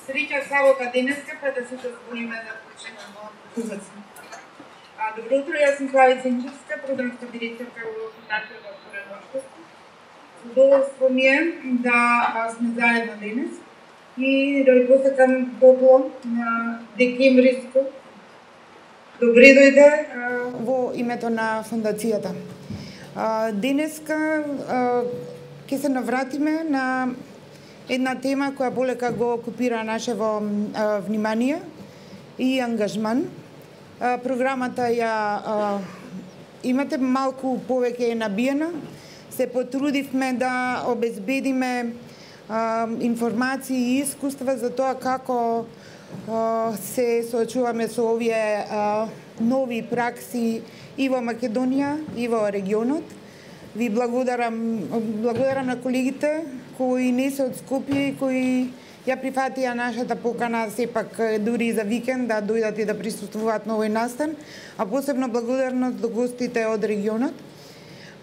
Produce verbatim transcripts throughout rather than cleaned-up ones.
Среќа сабота денеска, пред да се збориме да почнеме ужасно. Добро утро, јас сум Слави Сенчевска, програмска директорка во Фондацијата Отворено општество. Задоволство ми е да сме заедно денес и да ви посакам топло на декемвриско. Добре дојде во името на фондацијата. Денеска ќе се навратиме на една тема која полека го окупира нашево внимание и ангажман. Програмата ја имате малку повеќе е набиена. Се потрудивме да обезбедиме информации и искуства за тоа како се соочуваме со овие нови пракси и во Македонија и во регионот. Ви благодарам, благодарам на колегите кои не се од Скопје и кои ја прифатија нашата покана сепак дури за викенд да дојдат и да присуствуваат на овој настан, а посебно благодарност до гостите од регионот.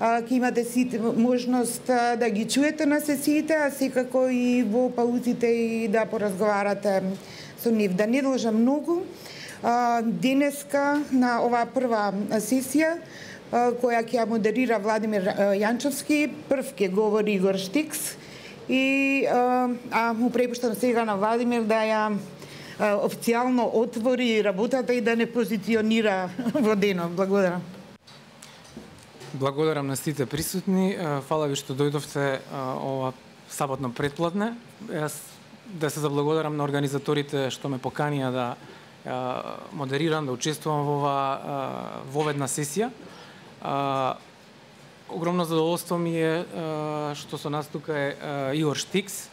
Ќе имате сите можност да ги чуете на сесиите, а секако и во паузите и да поразговарате со нив. Да не должам многу. Денеска на оваа прва сесија која ќе ја модерира Владимир Јанчовски, прв ќе говори Игор Штикс и а му препуштам сега на Владимир да ја официјално отвори работата и да не позиционира во денот. Благодарам. Благодарам на сите присутни. Фала ви што дојдовте ова саботно предпладне. Јас да се заблагодарам на организаторите што ме поканија да модерирам, да учествувам во ова во една сесија. Огромно задоволство ми е што со нас тука е Игор Штикс.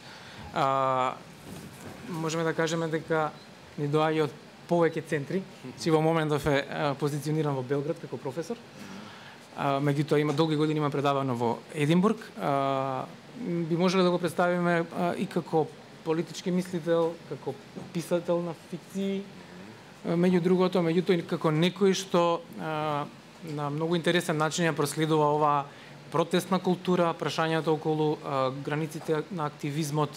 Можеме да кажеме дека ни доаѓа од повеќе центри, че во моментов е позициониран во Белград како професор. Меѓутоа има долги години има предавано во Единбург. Би можеле да го представиме и како политички мислител, како писател на фикции, меѓу другото, меѓутоа и како некој што на многу интересен начин ја проследува оваа протестна култура, прашањето околу границите на активизмот,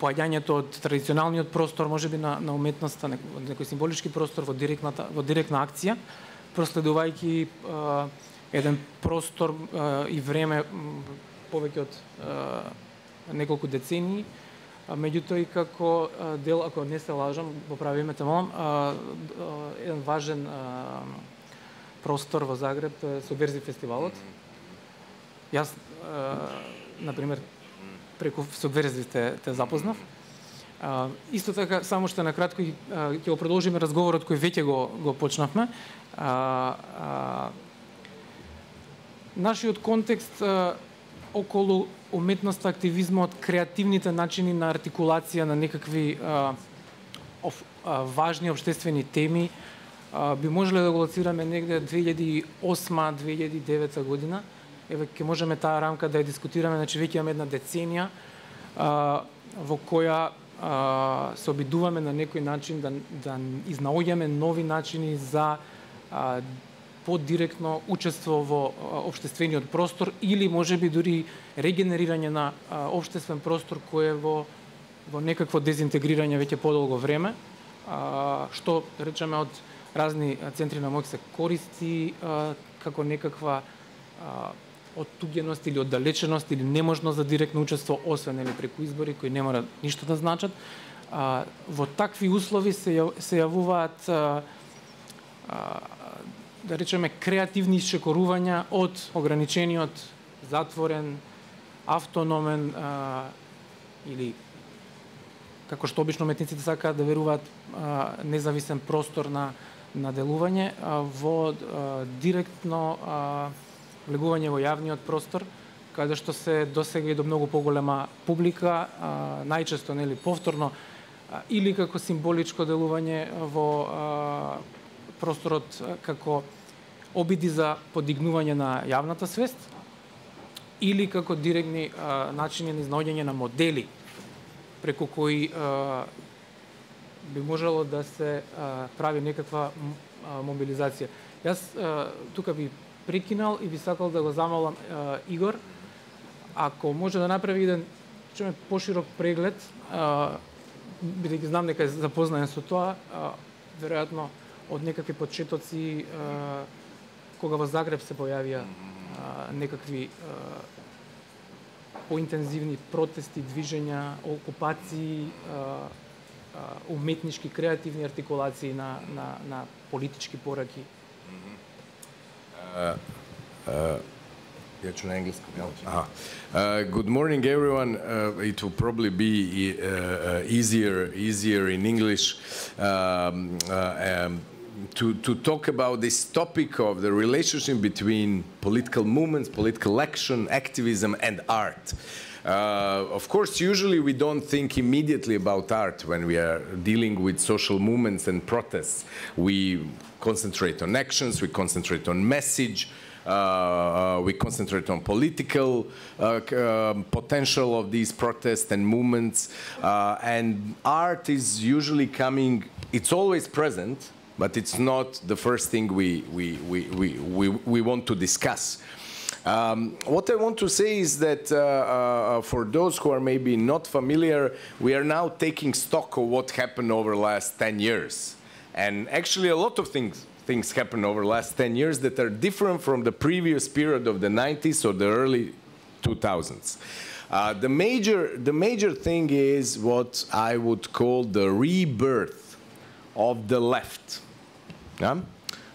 поаѓањето од традиционалниот простор, можеби на, на уметноста, некој символички простор во директната во директна акција, проследувајќи еден простор и време повеќе од неколку децении, меѓутоа и како дел, ако не се лажам, поправи ме те молам, еден важен простор во Загреб, тоа е Субверзив фестивалот. Јас, например, преку Субверзив те, те запознав. Исто така, само што накратко ќе го продолжиме разговорот кој веќе го, го почнавме. А, а, нашиот контекст а, околу уметноста, активизмот, креативните начини на артикулација на некакви а, ов, а, важни општествени теми а, би можеле да го лоцираме негде две илјади и осма - две илјади и девета година. Еве ќе можеме таа рамка да ја дискутираме, значи веќе имаме една деценија а, во која а, се обидуваме на некој начин да, да изнаоѓаме нови начини за а, подиректно учество во општествениот простор или можеби дури регенерирање на а, општествен простор кој е во, во некакво дезинтегрирање веќе подолго време, а, што речеме од разни центри на моќ се користи а, како некаква а, оттуѓеност или оддалеченост или неможност за директно учество, освен или преку избори кои не мора ништо да значат. А, во такви услови се, ја, се јавуваат а, а, да речеме креативни исчекорувања од ограничениот, затворен, автономен а, или како што обично уметниците сакаат да веруваат а, независен простор на на делување а, во а, директно а, влегување во јавниот простор, каде што се досега и до многу поголема публика, а, најчесто нели повторно а, или како символичко делување во а, просторот а, како обиди за подигнување на јавната свест или како директни а, начини на изнаоѓање на модели преку кои а, би можело да се а, прави некаква а, мобилизација. Јас а, тука би прекинал и би сакал да го замолам а, Игор, ако може да направи еден чуме поширок преглед, бидејќи знам дека е запознаен со тоа, веројатно од некакви почетоци, кога во Загреб се појавија некакви поинтензивни протести, движења, окупации, уметнички, креативни артикулации на, на, на политички пораки. Uh, uh, uh, good morning, everyone. Uh, it will probably be uh, easier, easier in English um, uh, um, to, to talk about this topic of the relationship between political movements, political action, activism, and art. Uh, of course, usually we don't think immediately about art when we are dealing with social movements and protests. We concentrate on actions, we concentrate on message, uh, we concentrate on political uh, uh, potential of these protests and movements. Uh, and art is usually coming, it's always present, but it's not the first thing we, we, we, we, we, we want to discuss. Um, what I want to say is that uh, uh, for those who are maybe not familiar, we are now taking stock of what happened over the last ten years. And actually a lot of things, things happened over the last ten years that are different from the previous period of the nineties or the early two thousands. Uh, the, major, the major thing is what I would call the rebirth of the left. Yeah?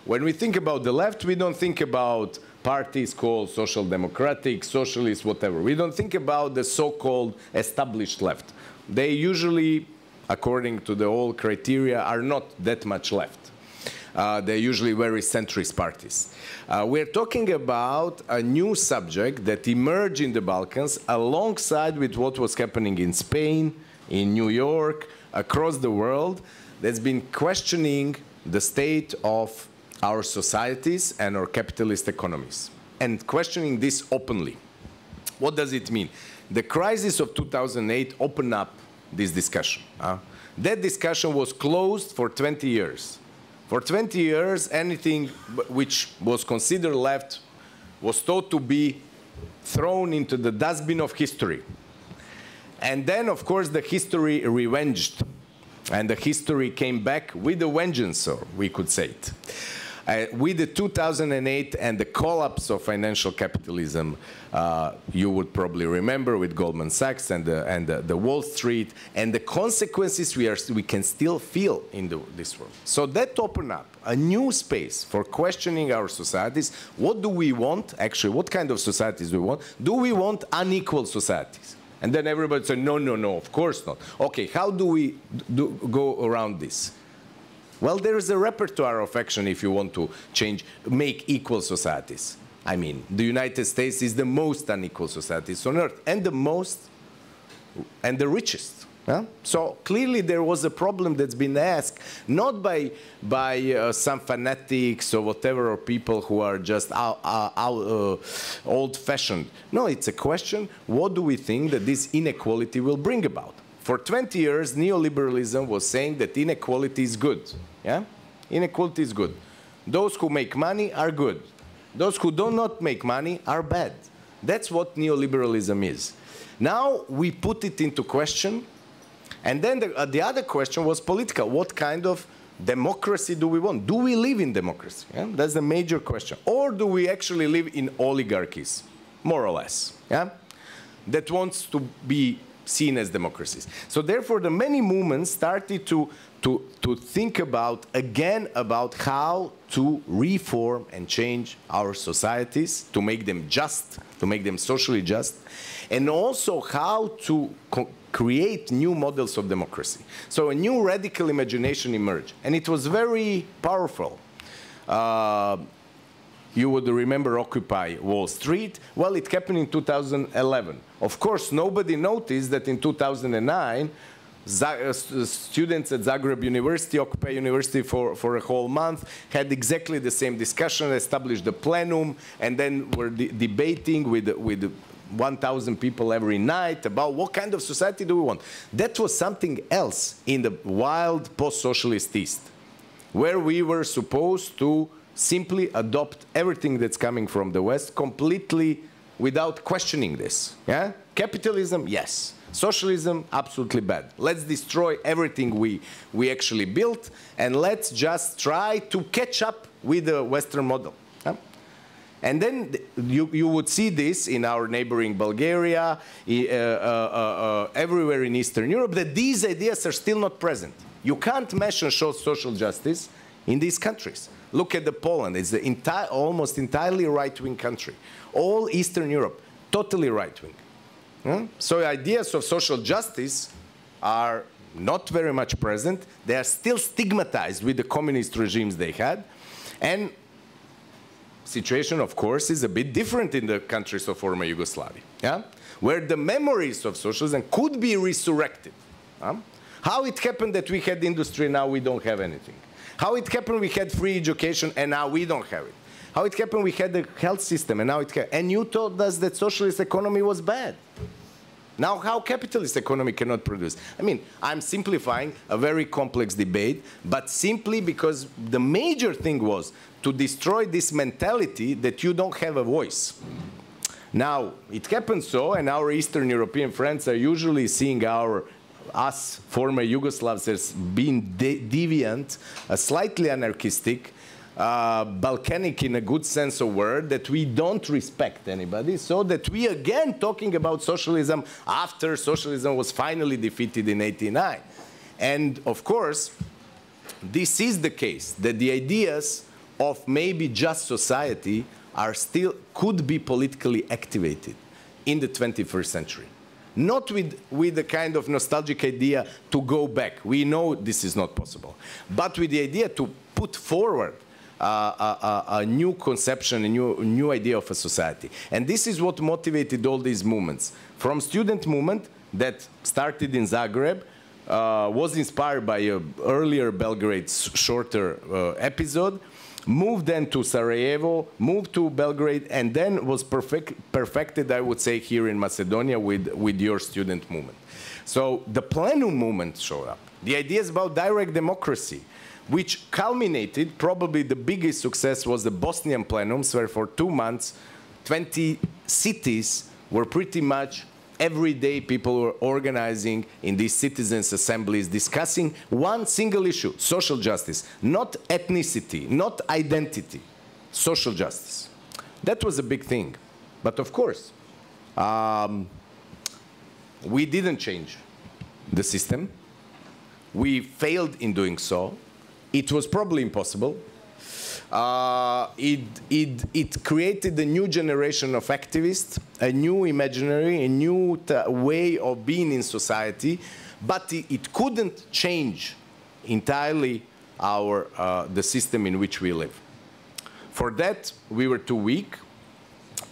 When we think about the left, we don't think about parties called social democratic, socialist, whatever. We don't think about the so-called established left. They usually, according to the old criteria, are not that much left. Uh, they're usually very centrist parties. Uh, we're talking about a new subject that emerged in the Balkans alongside with what was happening in Spain, in New York, across the world, that's been questioning the state of our societies and our capitalist economies, and questioning this openly. What does it mean? The crisis of two thousand eight opened up this discussion. Uh, that discussion was closed for twenty years. For twenty years, anything which was considered left was thought to be thrown into the dustbin of history. And then, of course, the history revenged, and the history came back with a vengeance, or we could say it. Uh, with the two thousand eight and the collapse of financial capitalism, uh, you would probably remember with Goldman Sachs and the, and the, the Wall Street, and the consequences we, are, we can still feel in the, this world. So that opened up a new space for questioning our societies. What do we want, actually, what kind of societies do we want? Do we want unequal societies? And then everybody said, no, no, no, of course not. Okay, how do we do, go around this? Well, there is a repertoire of action if you want to change, make equal societies. I mean, the United States is the most unequal societies on earth, and the most, and the richest. Yeah? So clearly there was a problem that's been asked, not by, by uh, some fanatics or whatever, or people who are just uh, uh, uh, old-fashioned. No, it's a question, what do we think that this inequality will bring about? For twenty years, neoliberalism was saying that inequality is good. Yeah? Inequality is good. Those who make money are good. Those who do not make money are bad. That's what neoliberalism is. Now we put it into question, and then the, uh, the other question was political. What kind of democracy do we want? Do we live in democracy? Yeah? That's the major question. Or do we actually live in oligarchies, more or less, yeah? That wants to be seen as democracies. So therefore, the many movements started to, to, to think about, again, about how to reform and change our societies, to make them just, to make them socially just, and also how to create new models of democracy. So a new radical imagination emerged, and it was very powerful. Uh, You would remember Occupy Wall Street. Well, it happened in two thousand eleven. Of course, nobody noticed that in two thousand nine, uh, students at Zagreb University, Occupy University for, for a whole month, had exactly the same discussion, established the plenum, and then were de debating with, with one thousand people every night about what kind of society do we want. That was something else in the wild post-socialist East, where we were supposed to simply adopt everything that's coming from the West, completely without questioning this. Yeah? Capitalism, yes. Socialism, absolutely bad. Let's destroy everything we, we actually built, and let's just try to catch up with the Western model. Yeah? And then you, you would see this in our neighboring Bulgaria, uh, uh, uh, everywhere in Eastern Europe, that these ideas are still not present. You can't mention social justice in these countries. Look at the Poland. It's the entire, almost entirely right-wing country. All Eastern Europe, totally right-wing. Hmm? So ideas of social justice are not very much present. They are still stigmatized with the communist regimes they had. And situation, of course, is a bit different in the countries of former Yugoslavia, yeah? Where the memories of socialism could be resurrected. Huh? How it happened that we had industry, now we don't have anything. How it happened we had free education and now we don't have it. How it happened we had the health system and now it and you told us that socialist economy was bad. Now how capitalist economy cannot produce? I mean, I'm simplifying a very complex debate, but simply because the major thing was to destroy this mentality that you don't have a voice. Now, it happens so, and our Eastern European friends are usually seeing our us former Yugoslavs as being de deviant, uh, slightly anarchistic, uh, Balkanic in a good sense of word, that we don't respect anybody, so that we again talking about socialism after socialism was finally defeated in eighty-nine. And of course, this is the case, that the ideas of maybe just society are still, could be politically activated in the twenty-first century. Not with, with the kind of nostalgic idea to go back. We know this is not possible. But with the idea to put forward uh, a, a, a new conception, a new, new idea of a society. And this is what motivated all these movements. From student movement that started in Zagreb, uh, was inspired by an earlier Belgrade shorter uh, episode, moved then to Sarajevo, moved to Belgrade, and then was perfect, perfected, I would say, here in Macedonia with, with your student movement. So the plenum movement showed up. The ideas about direct democracy, which culminated, probably the biggest success was the Bosnian plenums, where for two months, twenty cities were pretty much every day people were organizing in these citizens' assemblies, discussing one single issue, social justice, not ethnicity, not identity, social justice. That was a big thing. But of course, um, we didn't change the system. We failed in doing so. It was probably impossible. Uh, it, it, it created a new generation of activists, a new imaginary, a new t way of being in society, but it, it couldn't change entirely our, uh, the system in which we live. For that, we were too weak.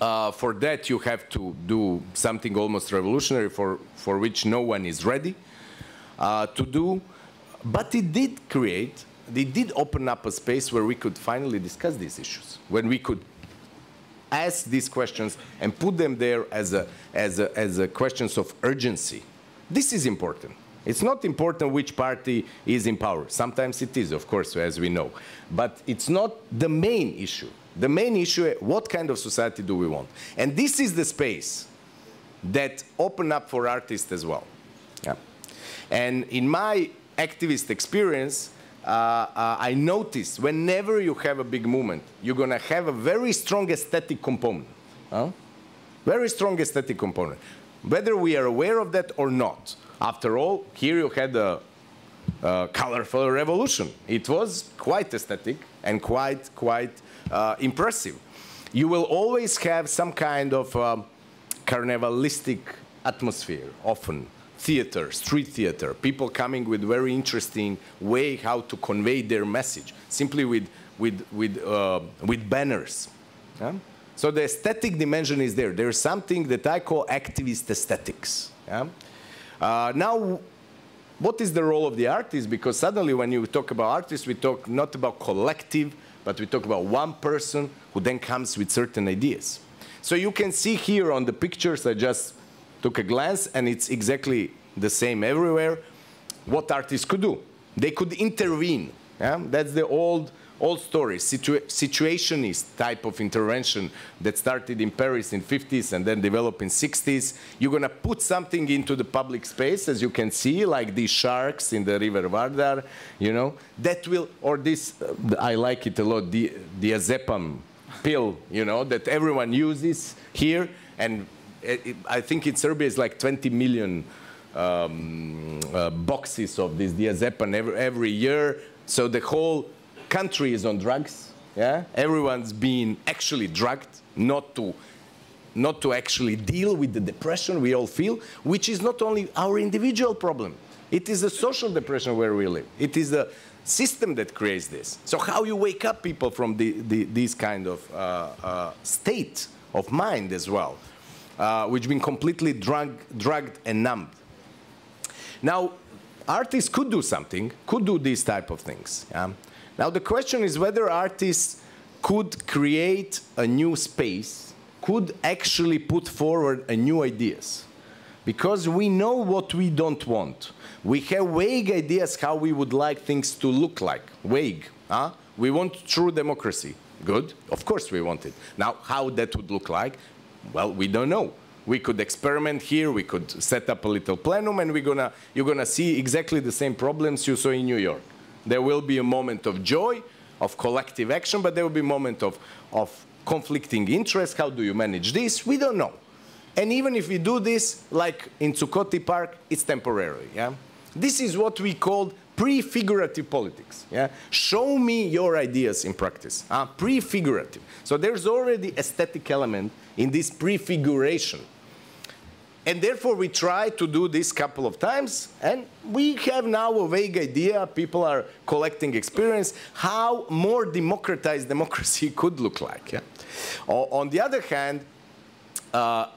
Uh, for that, you have to do something almost revolutionary for, for which no one is ready uh, to do. But it did create They did open up a space where we could finally discuss these issues, when we could ask these questions and put them there as a, as a, as a questions of urgency. This is important. It's not important which party is in power. Sometimes it is, of course, as we know. But it's not the main issue. The main issue is what kind of society do we want? And this is the space that opened up for artists as well. Yeah. And in my activist experience, Uh, uh, I noticed whenever you have a big movement, you're going to have a very strong aesthetic component. Huh? Very strong aesthetic component. Whether we are aware of that or not. After all, here you had a, a colorful revolution. It was quite aesthetic and quite, quite uh, impressive. You will always have some kind of um, carnivalistic atmosphere, often. Theater, street theater, people coming with very interesting way how to convey their message, simply with, with, with, uh, with banners. Yeah? So the aesthetic dimension is there. There's something that I call activist aesthetics. Yeah? Uh, now, what is the role of the artist? Because suddenly when you talk about artists, we talk not about collective, but we talk about one person who then comes with certain ideas. So you can see here on the pictures, I just took a glance, and it's exactly the same everywhere, what artists could do. They could intervene. Yeah? That's the old old stories, situa situationist type of intervention that started in Paris in fifties and then developed in sixties. You're going to put something into the public space, as you can see, like these sharks in the River Vardar, you know, that will, or this, uh, I like it a lot, the diazepam pill, you know, that everyone uses here, and it, it, I think in Serbia it's like twenty million um, uh, boxes of this diazepam every, every year. So the whole country is on drugs. Yeah, everyone's being actually drugged, not to, not to actually deal with the depression we all feel, which is not only our individual problem. It is a social depression where we live. It is the system that creates this. So how you wake up people from the, the, this kind of uh, uh, state of mind as well, uh, which been completely drug, drugged and numbed. Now, artists could do something, could do these type of things. Yeah? Now the question is whether artists could create a new space, could actually put forward a new ideas. Because we know what we don't want. We have vague ideas how we would like things to look like, vague. Huh? We want true democracy. Good, of course we want it. Now how that would look like, well, we don't know. We could experiment here, we could set up a little plenum, and we're gonna, you're gonna see exactly the same problems you saw in New York. There will be a moment of joy, of collective action, but there will be a moment of, of conflicting interests. How do you manage this? We don't know. And even if we do this, like in Zuccotti Park, it's temporary. Yeah? This is what we call prefigurative politics. Yeah? Show me your ideas in practice. Uh, prefigurative. So there's already aesthetic element in this prefiguration. And therefore, we try to do this couple of times, and we have now a vague idea. People are collecting experience, how more democratized democracy could look like. Yeah? On the other hand, uh,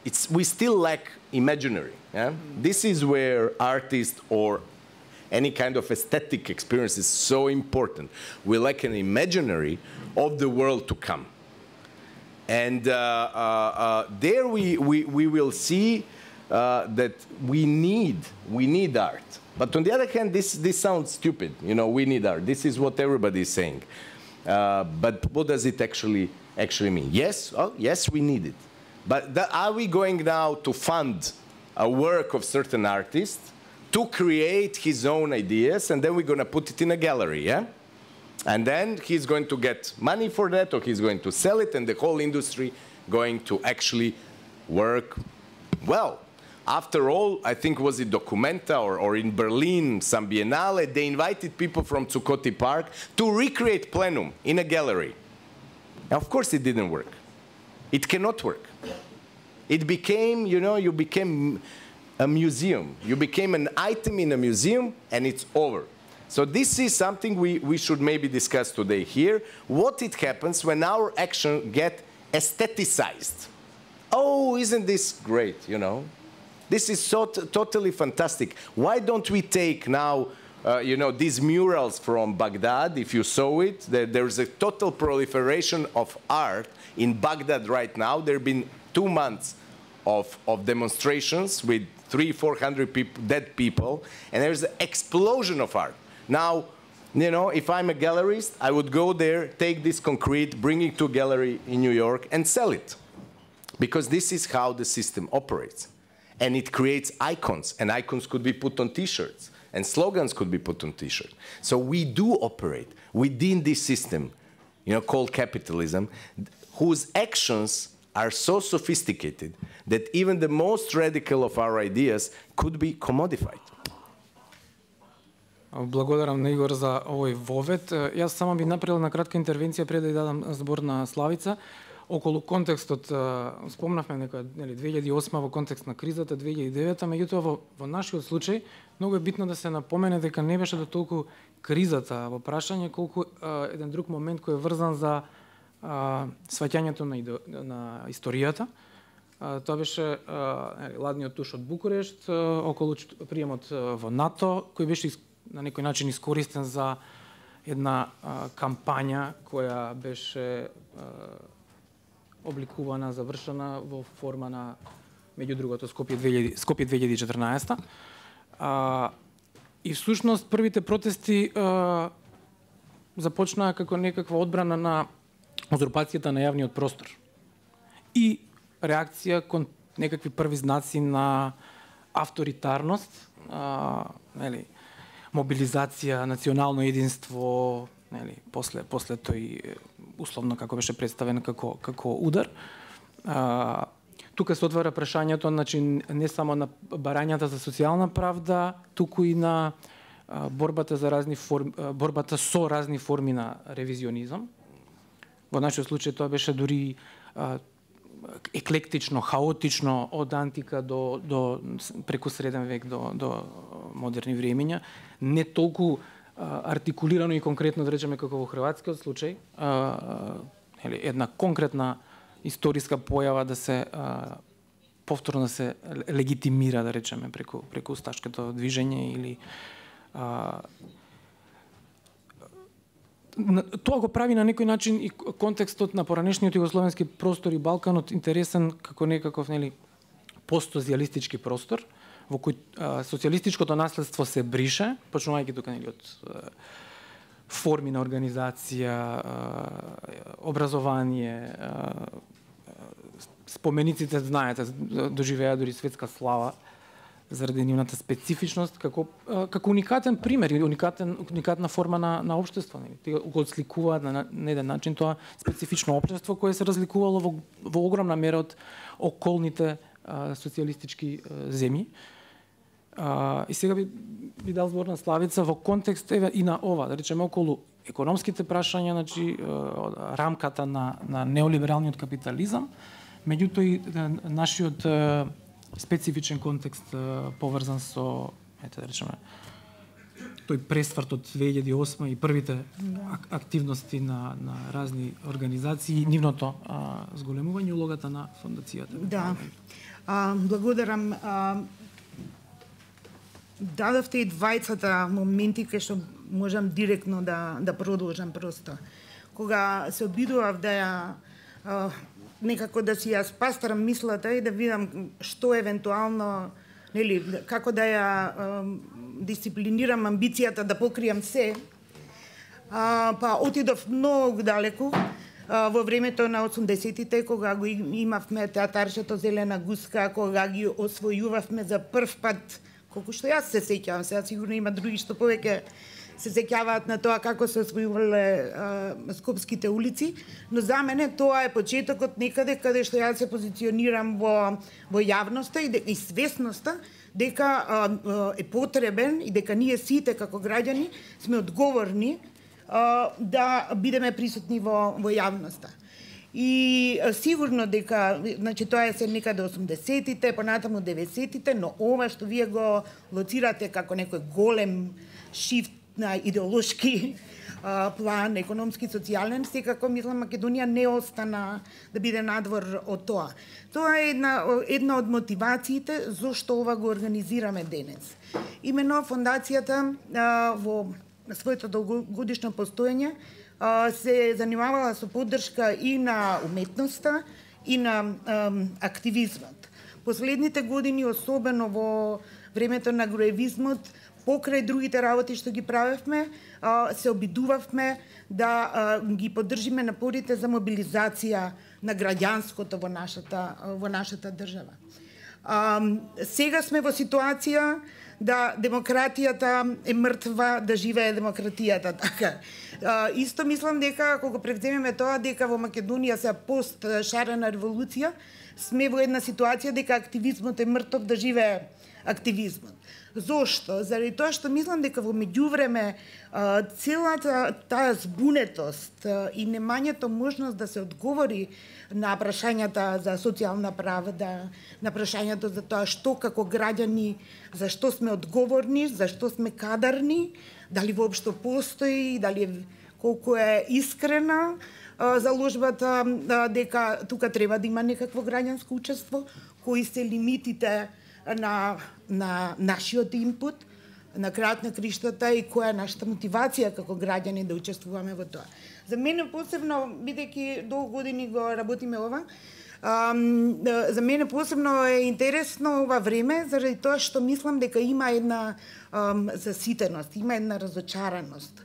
it's, we still lack imaginary. Yeah? This is where artists or any kind of aesthetic experience is so important. We lack an imaginary of the world to come. And uh, uh, uh, there we, we, we will see uh, that we need, we need art. But on the other hand, this, this sounds stupid. You know, we need art. This is what everybody is saying. Uh, but what does it actually, actually mean? Yes, oh, yes, we need it. But that, are we going now to fund a work of certain artist to create his own ideas, and then we're going to put it in a gallery, yeah? And then he's going to get money for that, or he's going to sell it, and the whole industry going to actually work well. After all, I think was it Documenta or, or in Berlin, some Biennale, they invited people from Zuccotti Park to recreate Plenum in a gallery. And of course it didn't work. It cannot work. It became, you know, you became a museum. You became an item in a museum, and it's over. So this is something we, we should maybe discuss today here. What it happens when our action get aestheticized. Oh, isn't this great, you know? This is so totally fantastic. Why don't we take now, uh, you know, these murals from Baghdad, if you saw it, there, there's a total proliferation of art in Baghdad right now. There have been two months of, of demonstrations with three, four hundred people, dead people, and there's an explosion of art. Now, you know, if I'm a gallerist, I would go there, take this concrete, bring it to a gallery in New York, and sell it. Because this is how the system operates. And it creates icons, and icons could be put on T-shirts, and slogans could be put on T-shirts. So we do operate within this system, you know, called capitalism, whose actions are so sophisticated that even the most radical of our ideas could be commodified. Благодарам на Игор за овој вовед. Јас само би направил на кратка интервенција пред да ја дадам збор на Славица. Околу контекстот, спомнавме некоја, нели, две илјади и осма во контекст на кризата, две илјади и девета, меѓутоа во, во нашиот случај многу е битно да се напомене дека не беше до толку кризата во прашање, колку а, еден друг момент кој е врзан за а, сваќањето на, идо, на историјата. А, тоа беше а, ладниот туш од Букурешт, а, околу приемот во НАТО, кој беше на некој начин искористен за една а, кампања која беше а, обликувана, завршена во форма на, меѓу другото, Скопје две илјади и четрнаесета. А, и всушност првите протести а, започнаа како некаква одбрана на узурпацијата на јавниот простор и реакција кон некакви први знаци на авторитарност, а, нели, мобилизација, национално единство, нели, после после тој условно како беше представен како како удар. А, тука се отвара прашањето, значи не само на барањата за социјална правда, туку и на а, борбата за разни форми, борбата со разни форми на ревизионизам. Во нашиот случај тоа беше дури а, еклектично, хаотично од антика до до преку среден век до до модерни времења, не толку а, артикулирано и конкретно да речеме како во хрватскиот случај, а, или една конкретна историска појава да се а, повторно да се легитимира, да речеме, преку преку усташкото движење или а, тоа го прави на некој начин и контекстот на поранешниот југословенски простор и Балканот интересен како некаков, нели, постсоцијалистички простор во кој а, социјалистичкото наследство се брише, почнувајќи тука, нели, од а, форми на организација, а, образование, а, спомениците, знаете, доживеа дури светска слава заради нивната специфичност, како како уникатен пример и уникатен уникатна форма на на општество, нели. Тие го отсликуваат на, на еден начин тоа специфично општество кое се разликувало во, во огромна мера од околните а, социјалистички а, земји. А, и сега би, би дал збор на Славица во контекст еве и на ова, да речеме, околу економските прашања, значи а, рамката на на неолибералниот капитализам, меѓутоа и нашиот а, специфичен контекст поврзан со, ете да речеме, тој пресврт од две илјади и осма и првите ак активности на на разни организации, нивното а, зголемување, улогата на фондацијата. Да. А, благодарам. А, дадовте и двајцата моменти кај што можам директно да да продолжам просто. Кога се обидував да ја а, некако да си ја спастрам мислата и да видам што евентуално, нели, како да ја е, дисциплинирам амбицијата да покријам се. А, па отидов многу далеку а, во времето на осумдесетите, кога го имавме театаршето Зелена гуска, кога ги освојувавме за прв пат, колку што јас се сеќавам, сега сигурно има други што повеќе се сеќаваат на тоа како се освојувале скопските улици, но за мене тоа е почетокот некаде каде што јас се позиционирам во во јавноста и, и свесноста дека а, е потребен и дека ние сите како граѓани сме одговорни а, да бидеме присутни во во јавноста. И а, сигурно дека, значи тоа е се некаде осумдесетите, понатаму деветдесетите, но ова што вие го лоцирате како некој голем шифт на идеолошки а, план, економски, социјален, секако мислам Македонија не остана да биде надвор од тоа. Тоа е една, една од мотивациите зошто ова го организираме денес. Имено фондацијата а, во своето долгогодишно постоење а, се занимавала со поддршка и на уметноста и на а, активизмот. Последните години, особено во времето на груевизмот, покрај другите работи што ги правевме, се обидувавме да ги поддржиме напорите за мобилизација на граѓанското во нашата во нашата држава. Сега сме во ситуација да демократијата е мртва, да живее демократијата, така. Исто мислам дека кога превземеме тоа дека во Македонија се пост шарена револуција, сме во една ситуација дека активизмот е мртов, да живее активизмот. Зошто? Заради тоа што мислам дека во меѓувреме целата таа збунетост и немањето можност да се одговори на прашањата за социјална правда, на прашањето за тоа што како граѓани, за што сме одговорни, за што сме кадарни, дали воопшто постои, дали колку е искрена заложбата дека тука треба да има некакво граѓанско учество, кои се лимитите на на нашиот инпут, на крајот на криштата и која е нашата мотивација како граѓани да учествуваме во тоа. За мене посебно, бидејќи долго години го работиме ова, ам, за мене посебно е интересно ова време, заради тоа што мислам дека има една ам, заситеност, има една разочараност.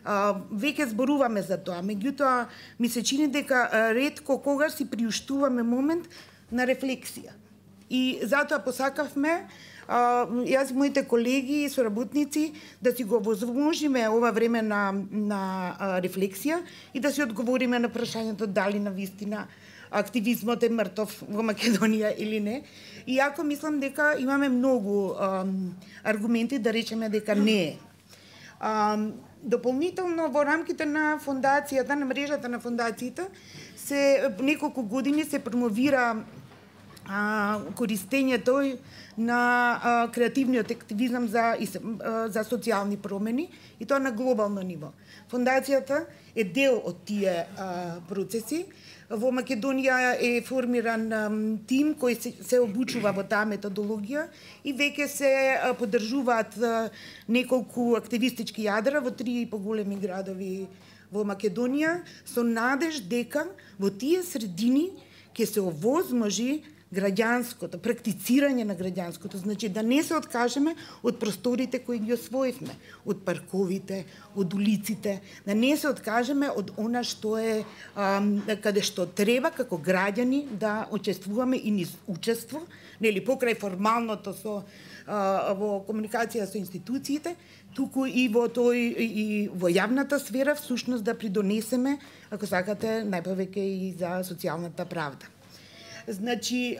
веќе зборуваме за тоа, меѓутоа ми се чини дека ретко когаш си приуштуваме момент на рефлексија. И затоа посакавме јас и моите колеги и соработници да си го возможиме ова време на, на рефлексија и да си одговориме на прашањето дали на вистина активизмот е мртов во Македонија или не. Иако мислам дека имаме многу ам, аргументи да речеме дека не е. Ам, дополнително во рамките на фондацијата, на мрежата на фондациите, се неколку години се промовира а, користењето на а, креативниот активизам за, а, за социјални промени и тоа на глобално ниво. Фондацијата е дел од тие а, процеси. Во Македонија е формиран а, тим кој се, се обучува во таа методологија и веќе се а, поддржуваат а, неколку активистички јадра во три поголеми градови во Македонија со надеж дека во тие средини ќе се овозможи граѓанското, практицирање на граѓанското, значи да не се откажеме од просторите кои ги освоивме, од парковите, од улиците, да не се откажеме од она што е ам, каде што треба како граѓани да учествуваме и низ учество, нели покрај формалното со а, во комуникација со институциите, туку и во тој и во јавната сфера всушност да придонесеме, ако сакате, најповеќе и за социјалната правда. Значи,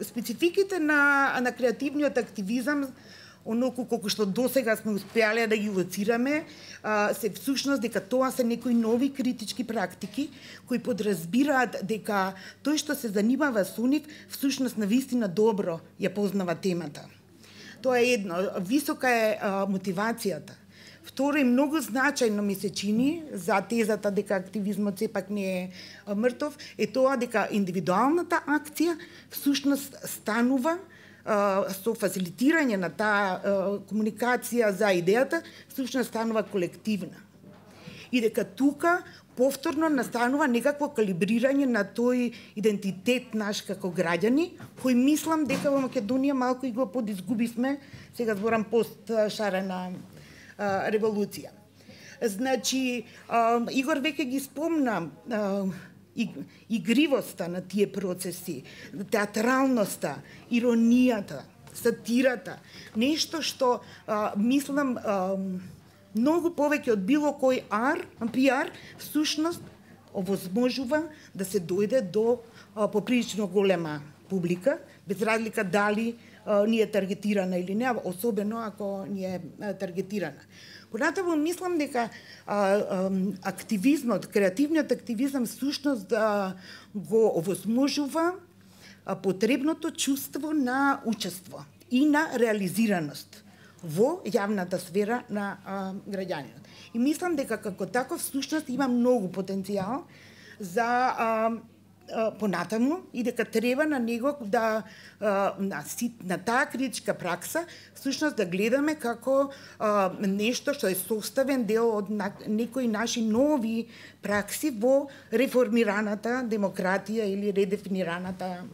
спецификите на, на креативниот активизам, оноку колку што досега сме успеале да ги лоцираме, се всушност дека тоа се некои нови критички практики кои подразбираат дека тој што се занимава со нив всушност навистина добро ја познава темата. Тоа е едно, висока е а, мотивацијата. Второ, и многу значајно ми се чини за тезата дека активизмот сепак не е мртов, е тоа дека индивидуалната акција всушност станува а, со фасилитирање на таа а, комуникација за идејата, всушност станува колективна. И дека тука повторно настанува некакво калибрирање на тој идентитет наш како граѓани, кој мислам дека во Македонија малку и го подизгубивме, сега зборам пост шарена револуција. Значи, а, Игор веќе ги спомна а, и, игривоста на тие процеси, театралноста, иронијата, сатирата, нешто што а, мислам а, многу повеќе од било кој ар, пиар, всушност овозможува да се дојде до а, поприлично голема публика, без разлика дали а, ни е таргетирана или не, особено ако ни е а, таргетирана. Понатаму мислам дека а, а, активизмот, креативниот активизам всушност да го овозможува а, потребното чувство на учество и на реализираност во јавната сфера на а, граѓанинот. И мислам дека како таков всушност има многу потенцијал за а, а, понатаму и дека треба на него да а, на, на таа критичка пракса всушност да гледаме како а, нешто што е составен дел од на, некои наши нови пракси во реформираната демократија или редефинираната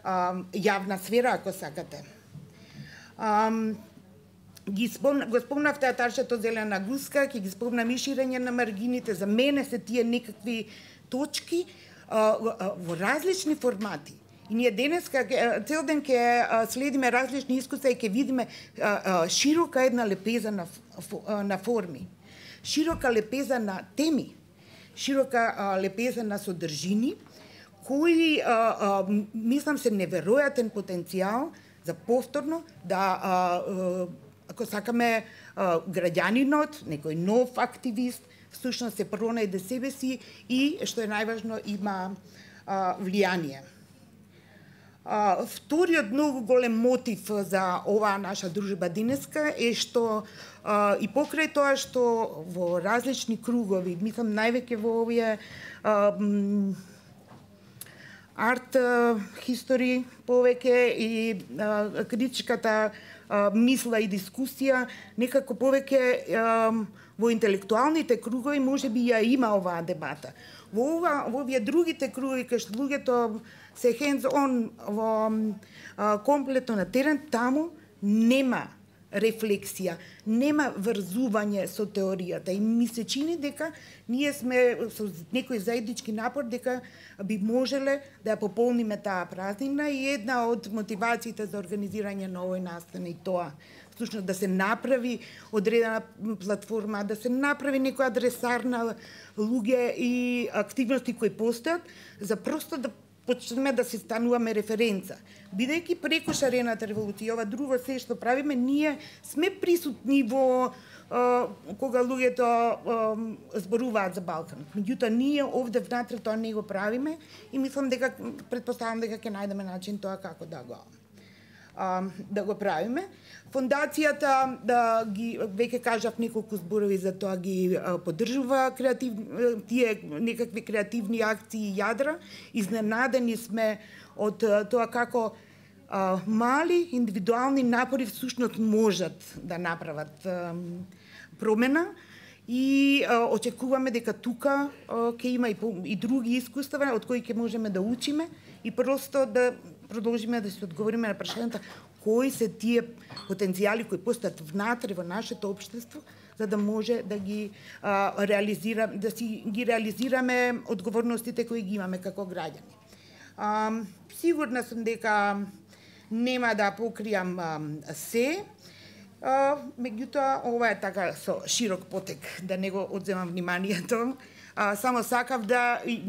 а, јавна сфера, ако сакате. А, ги спомна, го спомнавте атаршето зелена гуска, ќе ги спомнам и ширење на маргините. За мене се тие некакви точки а, а, во различни формати. И ние денеска цел ден ќе следиме различни искуства и ќе видиме а, а, широка една лепеза на, на форми, широка лепеза на теми, широка а, лепеза на содржини, кои а, а, мислам се неверојатен потенцијал за повторно да а, а, ако сакаме а, граѓанинот, некој нов активист, всушност се пронајде себе си и, што е најважно, има а, влијание. А, вториот многу голем мотив за оваа наша дружба денеска е што а, и покрај тоа што во различни кругови, мислам највеќе во овие а, арт хистори повеќе и а, критичката а, мисла и дискусија, некако повеќе а, во интелектуалните кругови можеби ја има оваа дебата. Во ова, во овие другите кругови кај што луѓето се hands on во а, комплетно на терен, таму нема рефлексија, нема врзување со теоријата и ми се чини дека ние сме со некој заеднички напор дека би можеле да ја пополниме таа празнина и една од мотивациите за организирање на овој настан и тоа всушност да се направи одредена платформа, да се направи некој адресар на луѓе и активности кои постојат за просто да почнеме да се стануваме референца. Бидејќи преку шарената револуција, ова друго се што правиме, ние сме присутни во е, кога луѓето е, зборуваат за Балкан. Меѓутоа, ние овде внатре тоа не го правиме и мислам дека, предпоставам дека ќе најдеме начин тоа како да го да го правиме. Фондацијата, да ги веќе кажав неколку зборови за тоа, ги поддржува креатив, тие некакви креативни акции и јадра. Изненадени сме од тоа како а, мали индивидуални напори всушност можат да направат а, промена и а, очекуваме дека тука ќе има и, и други искуства од кои ќе можеме да учиме и просто да продолжиме да се одговориме на прашањата кои се тие потенцијали кои постојат внатре во нашето општество, за да може да ги а, реализира, да си ги реализираме одговорностите кои ги имаме како граѓани. А, сигурна сум дека нема да покријам а, се, а, меѓутоа ова е така со широк потек, да не го одземам вниманието. А, само сакав да и,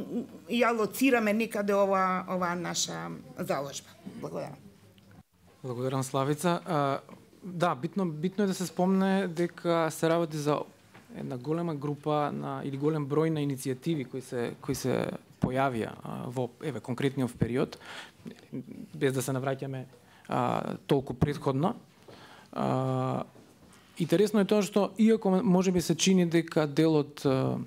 и алоцираме некаде ова, ова наша заложба. Благодарам. Благодарам, Славица. А, да, битно, битно е да се спомне дека се работи за една голема група на или голем број на иницијативи кои се кои се појавија а, во еве конкретниот период, без да се навраќаме а, толку претходно. А, интересно е тоа што иако можеби се чини дека дел од а,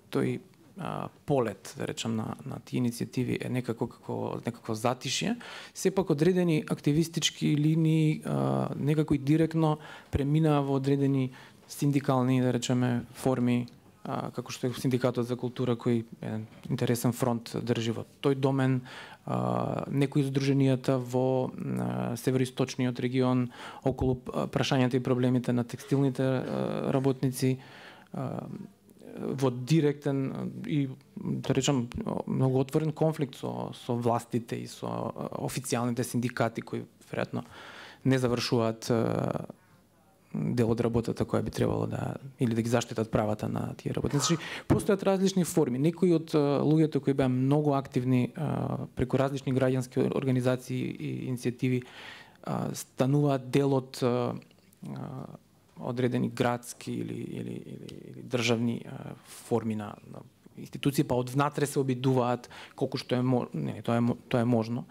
тој а, полет, да речам, на, на тие иницијативи е некако како некако затишје, сепак одредени активистички линии а, некако и директно преминаа во одредени синдикални, да речеме, форми, а, како што е Синдикатот за култура, кој е интересен фронт држи во тој домен, а, некои здруженијата во а, североисточниот регион околу прашањата и проблемите на текстилните а, работници, а, во директен и, да речам, многу отворен конфликт со, со властите и со официјалните синдикати кои веројатно не завршуваат дел од работата која би требало да или да ги заштитат правата на тие работници. Постојат различни форми. Некои од луѓето кои беа многу активни преку различни граѓански организации и иницијативи стануваат дел од одредени градски или или или, или државни а, форми на, на институции, па од внатре се обидуваат колку што е не, тоа е тоа е можно.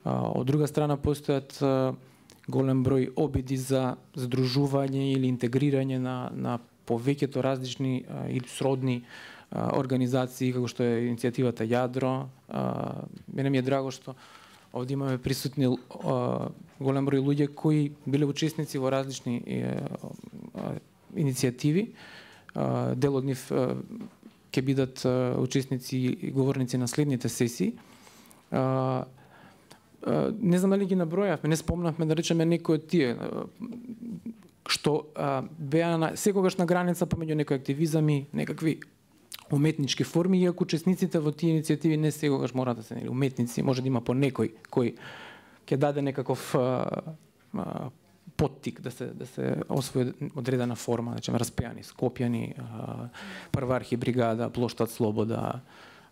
А, од друга страна постојат а, голем број обиди за здружување или интегрирање на на повеќето различни а, или сродни а, организации како што е иницијативата Јадро. А, мене ми е драго што овде имаме присутни а, голем број луѓе кои биле учесници во различни е, а, иницијативи. А, дел од нив а, ќе бидат а, учесници и говорници на следните сесии. А, а, не знам дали ги набројавме, не спомнавме да речеме некои од тие а, што а, беа на, секогаш на граница помеѓу некои активизами, некакви уметнички форми, иако учесниците во тие иницијативи не секогаш мора да се нели уметници, може да има по некој кој ќе даде некаков а, а, поттик да се да се освои одредена форма, значи распеани, скопјани, а, Првархи бригада, Плоштад Слобода,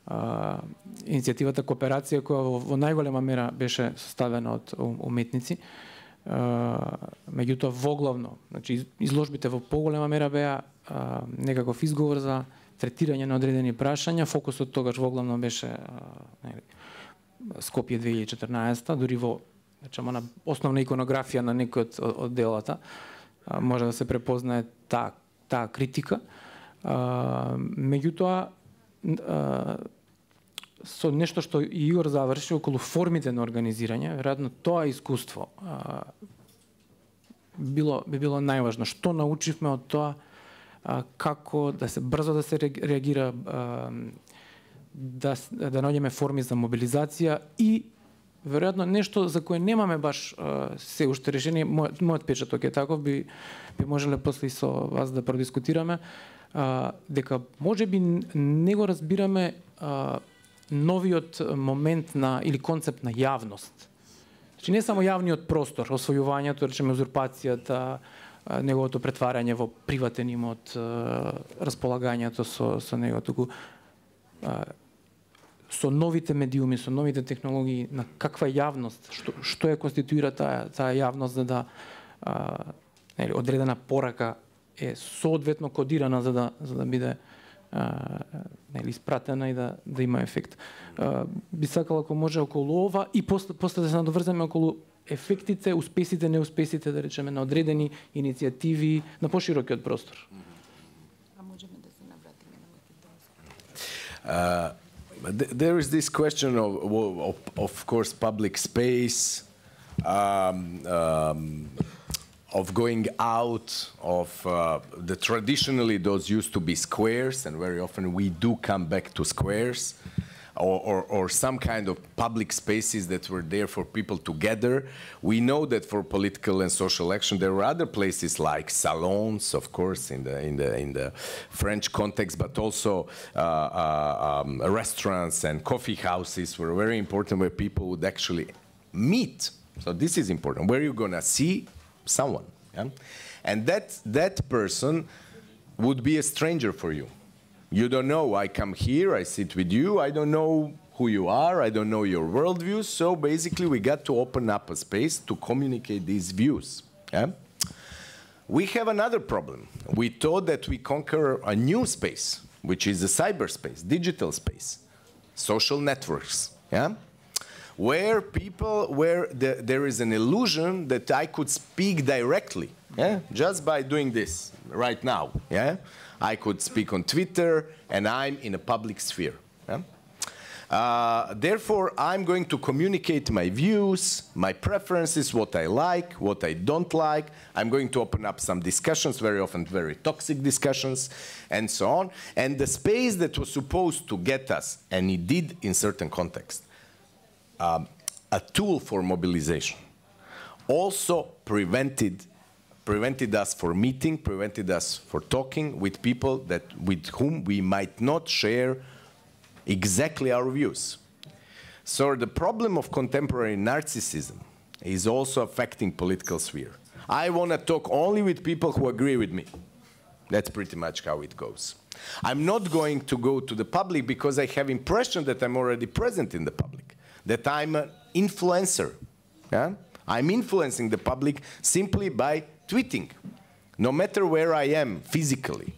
а, иницијативата Кооперација која во, во најголема мера беше составена од уметници. А, меѓутоа воглавно, значи изложбите во поголема мера беа а, некаков изговор за третирање на одредени прашања. Фокусот тогаш воглавно беше нели, Скопје две илјади и четрнаесетта, дури во речемо на основна иконографија на некој од, од делата а, може да се препознае таа таа критика. А, меѓутоа а, со нешто што Игор заврши околу формите на организирање, веројатно тоа искуство а, било би било најважно. Што научивме од тоа? А, како да се брзо да се реагира, а, да да наоѓеме форми за мобилизација и веројатно нешто за кое немаме баш а, се уште решение, мојот, мојот печаток е таков, би, би можеле после со вас да продискутираме, а, дека можеби не го разбираме а, новиот момент на или концепт на јавност. Значи не само јавниот простор, освојувањето, речеме узурпацијата, неговото претварање во приватен имот, располагањето со со него, туку со новите медиуми, со новите технологии, на каква јавност, што што ја конституира таа таа јавност за да а, нели одредена порака е соодветно кодирана за да за да биде а, нели испратена и да да има ефект. А, би сакала ако може околу ова и после после да се надоврземе околу ефектите, успесите, неуспесите, да речеме, на одредени иницијативи на поширокиот простор. А можеме да се навратиме на Македонија. There is this question of, of, of course, public space, um, um, of going out of uh, the traditionally those used to be squares, and very often we do come back to squares, or, or, or some kind of public spaces that were there for people to gather. We know that for political and social action there were other places like salons, of course, in the in the in the French context, but also uh, uh, um, restaurants and coffee houses were very important, where people would actually meet. So this is important. Where you're gonna see someone, yeah? And that that person would be a stranger for you. You don't know, I come here, I sit with you, I don't know who you are, I don't know your worldview, so basically we got to open up a space to communicate these views. Yeah? We have another problem. We thought that we conquer a new space, which is the cyberspace, digital space, social networks, yeah? Where people, where the, there is an illusion that I could speak directly, yeah? Just by doing this right now, yeah? I could speak on Twitter, and I'm in a public sphere. Yeah? Uh, therefore, I'm going to communicate my views, my preferences, what I like, what I don't like. I'm going to open up some discussions, very often very toxic discussions, and so on. And the space that was supposed to get us, and it did in certain contexts, um, a tool for mobilization, also prevented prevented us from meeting, prevented us from talking with people that, with whom we might not share exactly our views. So the problem of contemporary narcissism is also affecting political sphere. I want to talk only with people who agree with me. That's pretty much how it goes. I'm not going to go to the public because I have impression that I'm already present in the public, that I'm an influencer. Yeah? I'm influencing the public simply by tweeting, no matter where I am physically.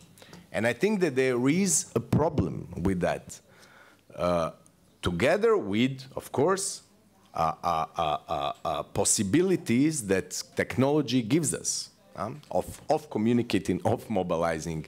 And I think that there is a problem with that. Uh, together with, of course, uh, uh, uh, uh, uh, possibilities that technology gives us um, of, of communicating, of mobilizing.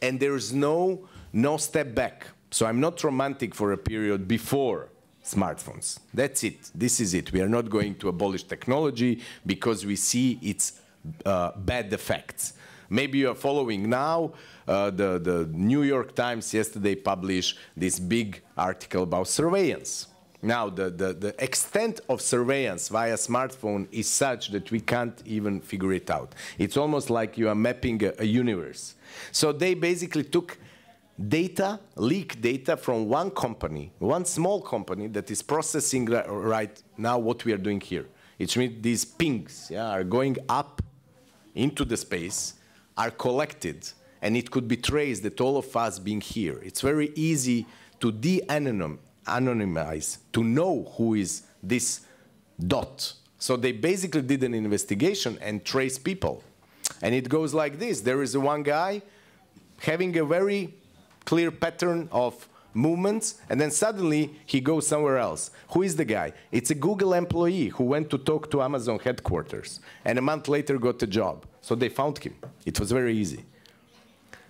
And there's no, no step back. So I'm not romantic for a period before smartphones. That's it. This is it. We are not going to abolish technology because we see its Uh, bad effects. Maybe you are following now, uh, the, the New York Times yesterday published this big article about surveillance. Now, the, the, the extent of surveillance via smartphone is such that we can't even figure it out. It's almost like you are mapping a, a universe. So they basically took data, leaked data from one company, one small company that is processing right now what we are doing here. It means these pings yeah, are going up into the space, are collected, and it could be traced that all of us being here. It's very easy to de-anonymize, to know who is this dot. So they basically did an investigation and traced people. And it goes like this. There is one guy having a very clear pattern of movements, and then suddenly he goes somewhere else. Who is the guy? It's a Google employee who went to talk to Amazon headquarters, and a month later got a job. So they found him. It was very easy.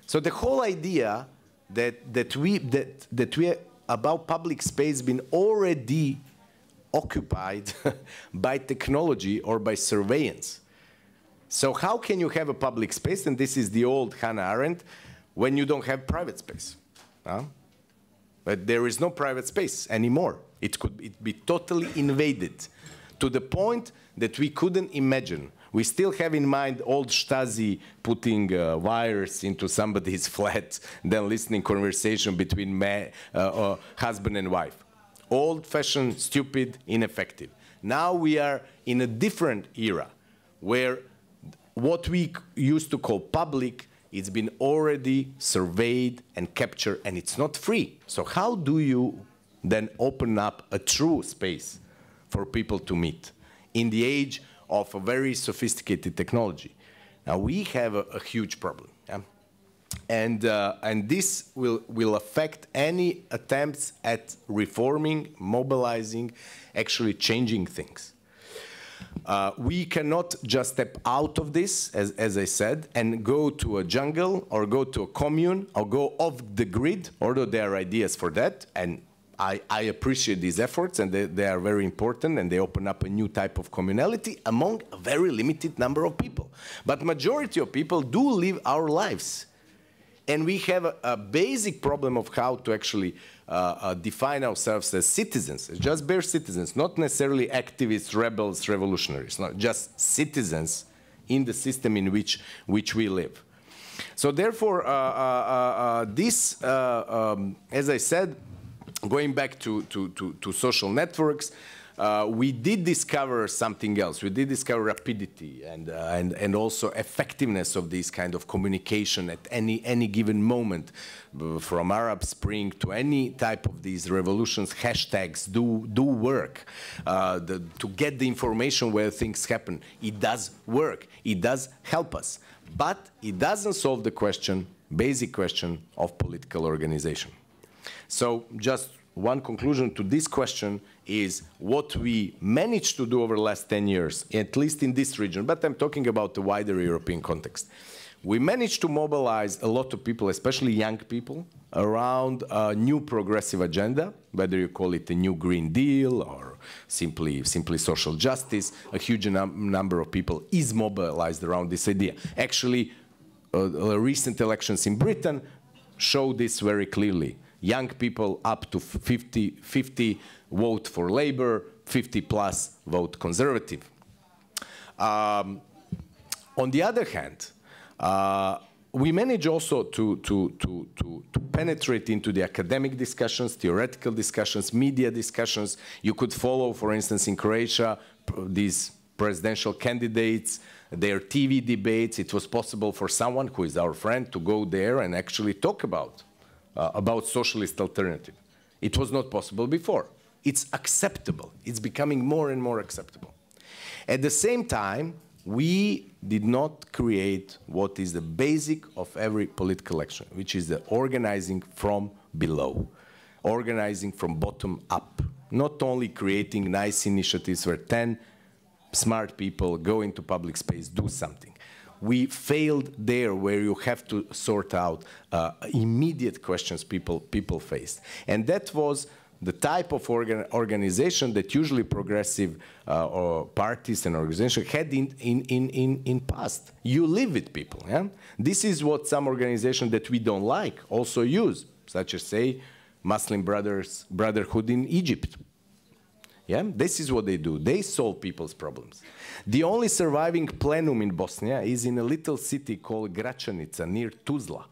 So the whole idea that, that we, that, that we about public space been already occupied by technology or by surveillance. So how can you have a public space, and this is the old Hannah Arendt, when you don't have private space? Huh? But there is no private space anymore. It could it be totally invaded to the point that we couldn't imagine. We still have in mind old Stasi putting uh, wires into somebody's flat, then listening conversation between ma uh, uh, husband and wife. Old-fashioned, stupid, ineffective. Now we are in a different era where what we used to call public, it's been already surveyed and captured, and it's not free. So how do you then open up a true space for people to meet in the age of a very sophisticated technology? Now we have a, a huge problem, yeah? and uh, and this will will affect any attempts at reforming, mobilizing, actually changing things. Uh, we cannot just step out of this, as, as I said, and go to a jungle or go to a commune or go off the grid, although there are ideas for that, and I, I appreciate these efforts, and they, they are very important, and they open up a new type of communality among a very limited number of people. But majority of people do live our lives. And we have a, a basic problem of how to actually uh, uh, define ourselves as citizens, just bare citizens, not necessarily activists, rebels, revolutionaries, not just citizens in the system in which, which we live. So therefore, uh, uh, uh, this, uh, um, as I said, going back to, to, to, to social networks, uh, we did discover something else. We did discover rapidity and, uh, and, and also effectiveness of this kind of communication at any, any given moment. From Arab Spring to any type of these revolutions, hashtags do, do work. Uh, the, to get the information where things happen, it does work. It does help us. But it doesn't solve the question, basic question of political organization. So just one conclusion to this question is what we managed to do over the last ten years, at least in this region, but I'm talking about the wider European context. We managed to mobilize a lot of people, especially young people, around a new progressive agenda, whether you call it a new Green Deal or simply, simply social justice. A huge num number of people is mobilized around this idea. Actually, uh, the recent elections in Britain show this very clearly. Young people up to fifty, fifty vote for Labour, fifty plus vote Conservative. Um, on the other hand, uh, we manage also to, to, to, to, to penetrate into the academic discussions, theoretical discussions, media discussions. You could follow, for instance, in Croatia, these presidential candidates, their T V debates. It was possible for someone who is our friend to go there and actually talk about Uh, about socialist alternative. It was not possible before. It's acceptable. It's becoming more and more acceptable. At the same time, we did not create what is the basic of every political action, which is the organizing from below, organizing from bottom up, not only creating nice initiatives where ten smart people go into public space, do something. We failed there, where you have to sort out uh, immediate questions people, people faced. And that was the type of organ organization that usually progressive uh, or parties and organizations had in, in, in, in, in past. You live with people. Yeah? This is what some organizations that we don't like also use, such as, say, Muslim Brothers, Brotherhood in Egypt. Yeah? This is what they do. They solve people's problems. The only surviving plenum in Bosnia is in a little city called Gračanica near Tuzla.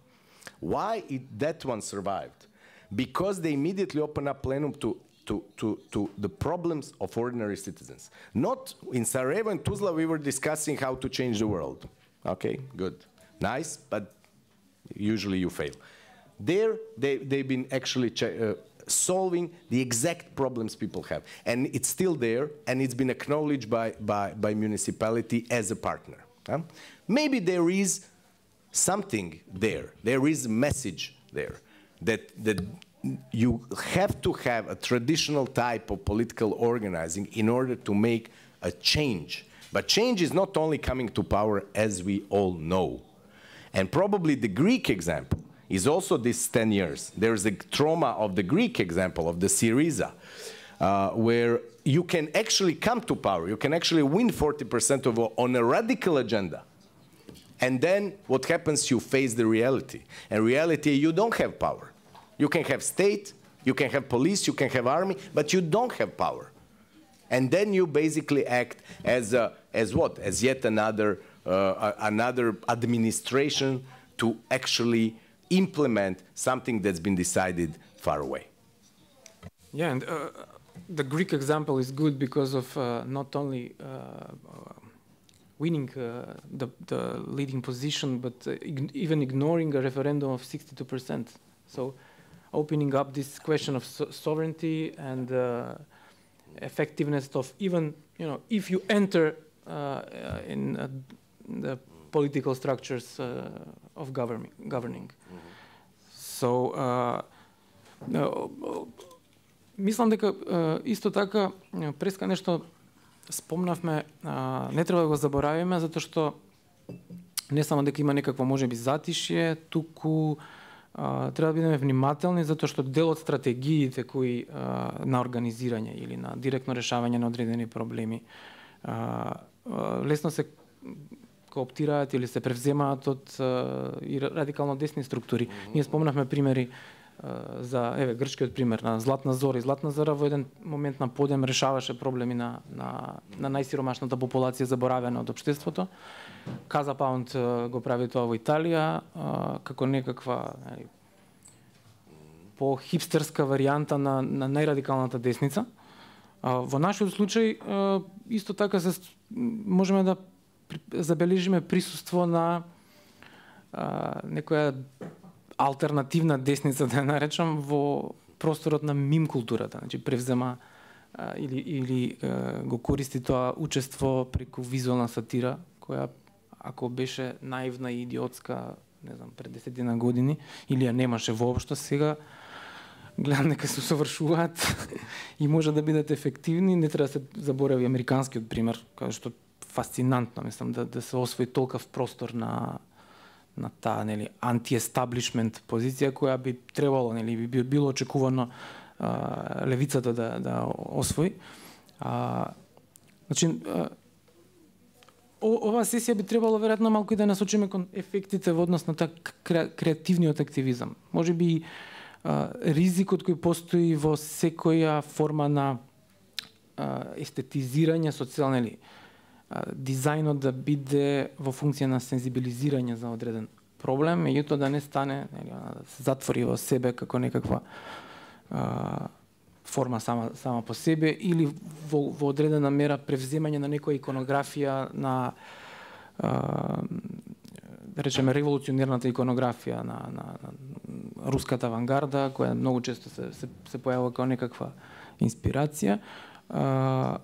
Why it, that one survived? Because they immediately opened up plenum to, to, to, to the problems of ordinary citizens. Not in Sarajevo and Tuzla we were discussing how to change the world. Okay, good. Nice, but usually you fail. There, they, they've been actually uh, solving the exact problems people have. And it's still there, and it's been acknowledged by, by, by municipality as a partner. Huh? Maybe there is something there. There is a message there that, that you have to have a traditional type of political organizing in order to make a change. But change is not only coming to power, as we all know. And probably the Greek example is also this ten years. There's a trauma of the Greek example of the Syriza, uh, where you can actually come to power. You can actually win forty percent of on a radical agenda. And then what happens, you face the reality. And reality, you don't have power. You can have state, You can have police, you can have army, but you don't have power. And then you basically act as a, as what? As yet another uh, another administration to actually implement something that's been decided far away. Yeah, and uh, the Greek example is good because of uh, not only uh, uh, winning uh, the, the leading position, but uh, ig even ignoring a referendum of sixty-two percent. So opening up this question of so sovereignty and uh, effectiveness of even, you know, if you enter uh, uh, in uh, the political structures uh, of governing. governing. Mm-hmm. So, uh, uh, мислам дека uh, исто така преска нешто спомнавме, uh, не треба да го заборавиме, затоа што не само дека има некакво можеби затишје, туку Uh, треба да бидеме внимателни, затоа што дел од стратегиите кои uh, на организирање или на директно решавање на одредени проблеми uh, uh, лесно се кооптираат или се превземаат од uh, и радикално десни структури. Mm-hmm. Ние спомнавме примери uh, за еве грчкиот пример на Златна Зора. И Златна Зора во еден момент на подем решаваше проблеми на на, на најсиромашната популација заборавена од општеството. Каза Паунд го прави тоа во Италија а, како некаква нали, по-хипстерска варијанта на, на најрадикалната десница. А, во нашиот случај а, исто така се можеме да забележиме присуство на а, некоја алтернативна десница, да ја наречам, во просторот на мим културата. Значи превзема а, или, или а, го користи тоа учество преку визуелна сатира, која ако беше наивна и идиотска, не знам, пред десетина години, или ја немаше воопшто, сега гледам дека се усовршуваат и може да бидат ефективни. Не треба да се заборави американскиот пример, кај што фасцинантно, мислам, да, да се освои толков простор на на таа, нели, анти-естаблишмент позиција која би требало, нели, би било очекувано а, левицата да да освои. А, значи, а, оваа сесија би требало веројатно малку и да насочиме кон ефектите во однос на таа креативниот активизам. Може би а, ризикот кој постои во секоја форма на а, естетизирање социјално, или дизајнот да биде во функција на сензибилизирање за одреден проблем, меѓутоа да не стане, нели, да се затвори во себе како некаква а, форма сама сама по себе, или во, во одредена мера превземање на некоја иконографија на а, да речеме револуционерната иконографија на, на, на руската авангарда, која многу често се се, се појавува како некаква инспирација. А,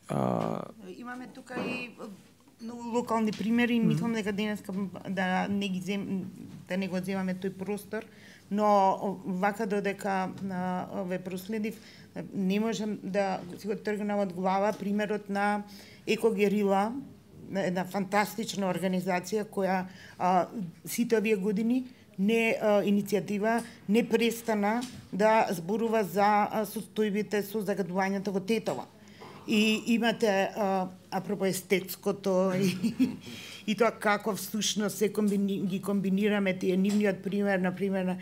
а... Имаме тука и многу локални примери, mm -hmm. мислам дека денес да не ги зем, да не го земаме тој простор, но вака додека на ове проследив, не можам да си го тргнам од глава примерот на Екогерила, една фантастична организација која а, сите овие години не а, иницијатива не престана да зборува за состојбите со загадувањето во Тетово. И имате, а, апропо естетското и, и тоа како всушност се комбини, ги комбинираме тие нивниот пример, например,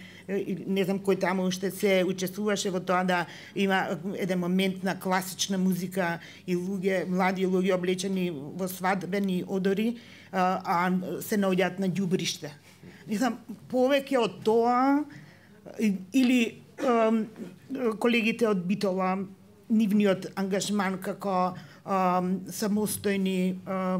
не знам кој таму уште се учествуваше во тоа да има еден момент на класична музика и луѓе, млади луѓе облечени во свадбени одори, а, а се наоѓаат на ѓубриште. Не знам, повеќе од тоа, или а, колегите од Битола, нивниот ангажман како а, самостојни а,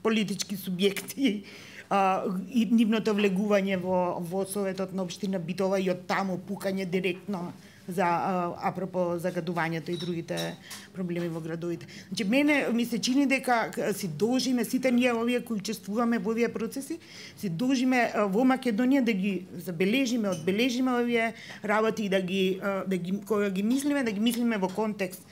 политички субјекти а, и нивното влегување во, во Советот на општина Битола и од таму пукање директно за а, апропо загадувањето и другите проблеми во градовите. Значи, мене ми се чини дека си должиме, сите ние овие кои учествуваме во овие процеси, си должиме а, во Македонија да ги забележиме, одбележиме овие работи и да ги, а, да ги кога ги мислиме, да ги мислиме во контекст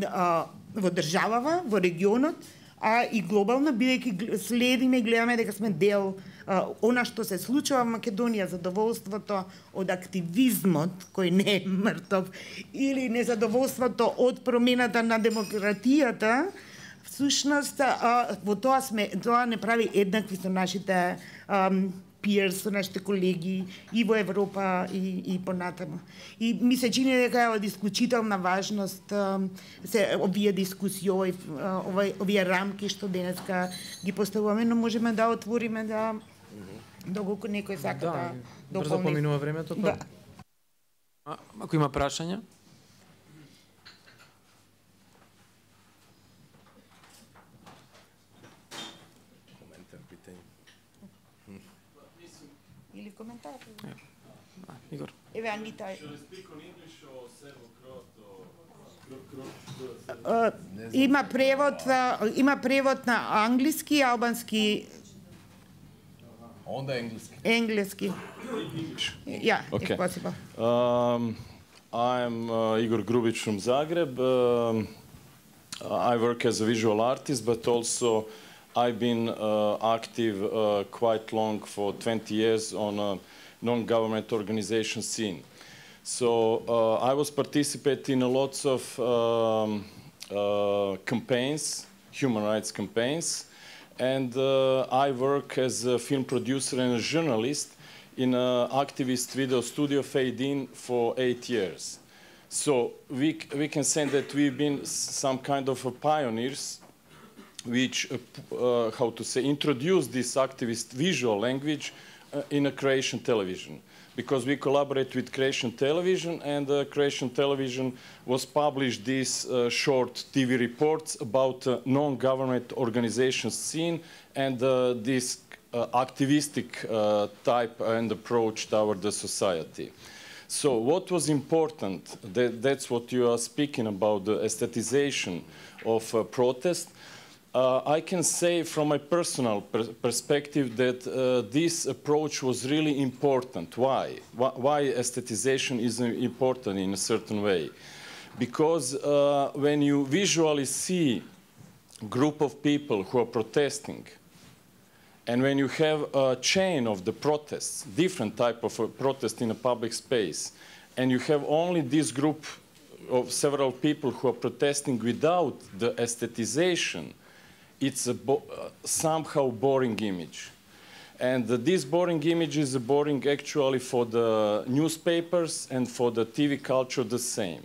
а, во државава, во регионот, а и глобално, бидејќи следиме и гледаме дека сме дел а, она што се случува во Македонија, задоволството од активизмот, кој не е мртов, или незадоволството од промената на демократијата, всушност а, во тоа сме, тоа не прави еднакви со нашите а, peers, со нашите колеги и во Европа и, и понатаму. И ми се чини дека е од исклучителна важност се овие дискусии, овој, овој, овие рамки што денеска ги поставуваме, но можеме да отвориме да доколку некој сака да, да брзо поминува времето. Да. А, ако има прашања? Или коментар? А, Игор. Еве Анита. Има превод, има превод на англиски, албански. Onda engleski. Engleski. Yeah, okay. if possible. Um, I'm uh, Igor Grubic from Zagreb. Um, I work as a visual artist, but also I've been uh, active uh, quite long, for twenty years, on a non-government organization scene. So uh, I was participating in lots of um, uh, campaigns, human rights campaigns, and uh, I work as a film producer and a journalist in an activist video studio, Fade In, for eight years. So we, we can say that we've been some kind of a pioneers which, uh, uh, how to say, introduce this activist visual language uh, in a Croatian television. Because we collaborate with Croatian television, and uh, Croatian television was published these uh, short T V reports about uh, non-government organization scene and uh, this uh, activistic uh, type and approach toward the society. So what was important, that, that's what you are speaking about, the aestheticization of uh, protest. Uh, I can say from my personal per perspective that uh, this approach was really important. Why? Why, why aestheticization is important in a certain way? Because uh, when you visually see a group of people who are protesting, and when you have a chain of the protests, different type of a protest in a public space, and you have only this group of several people who are protesting without the aestheticization, it's a bo uh, somehow boring image. And uh, this boring image is boring actually for the newspapers and for the T V culture the same.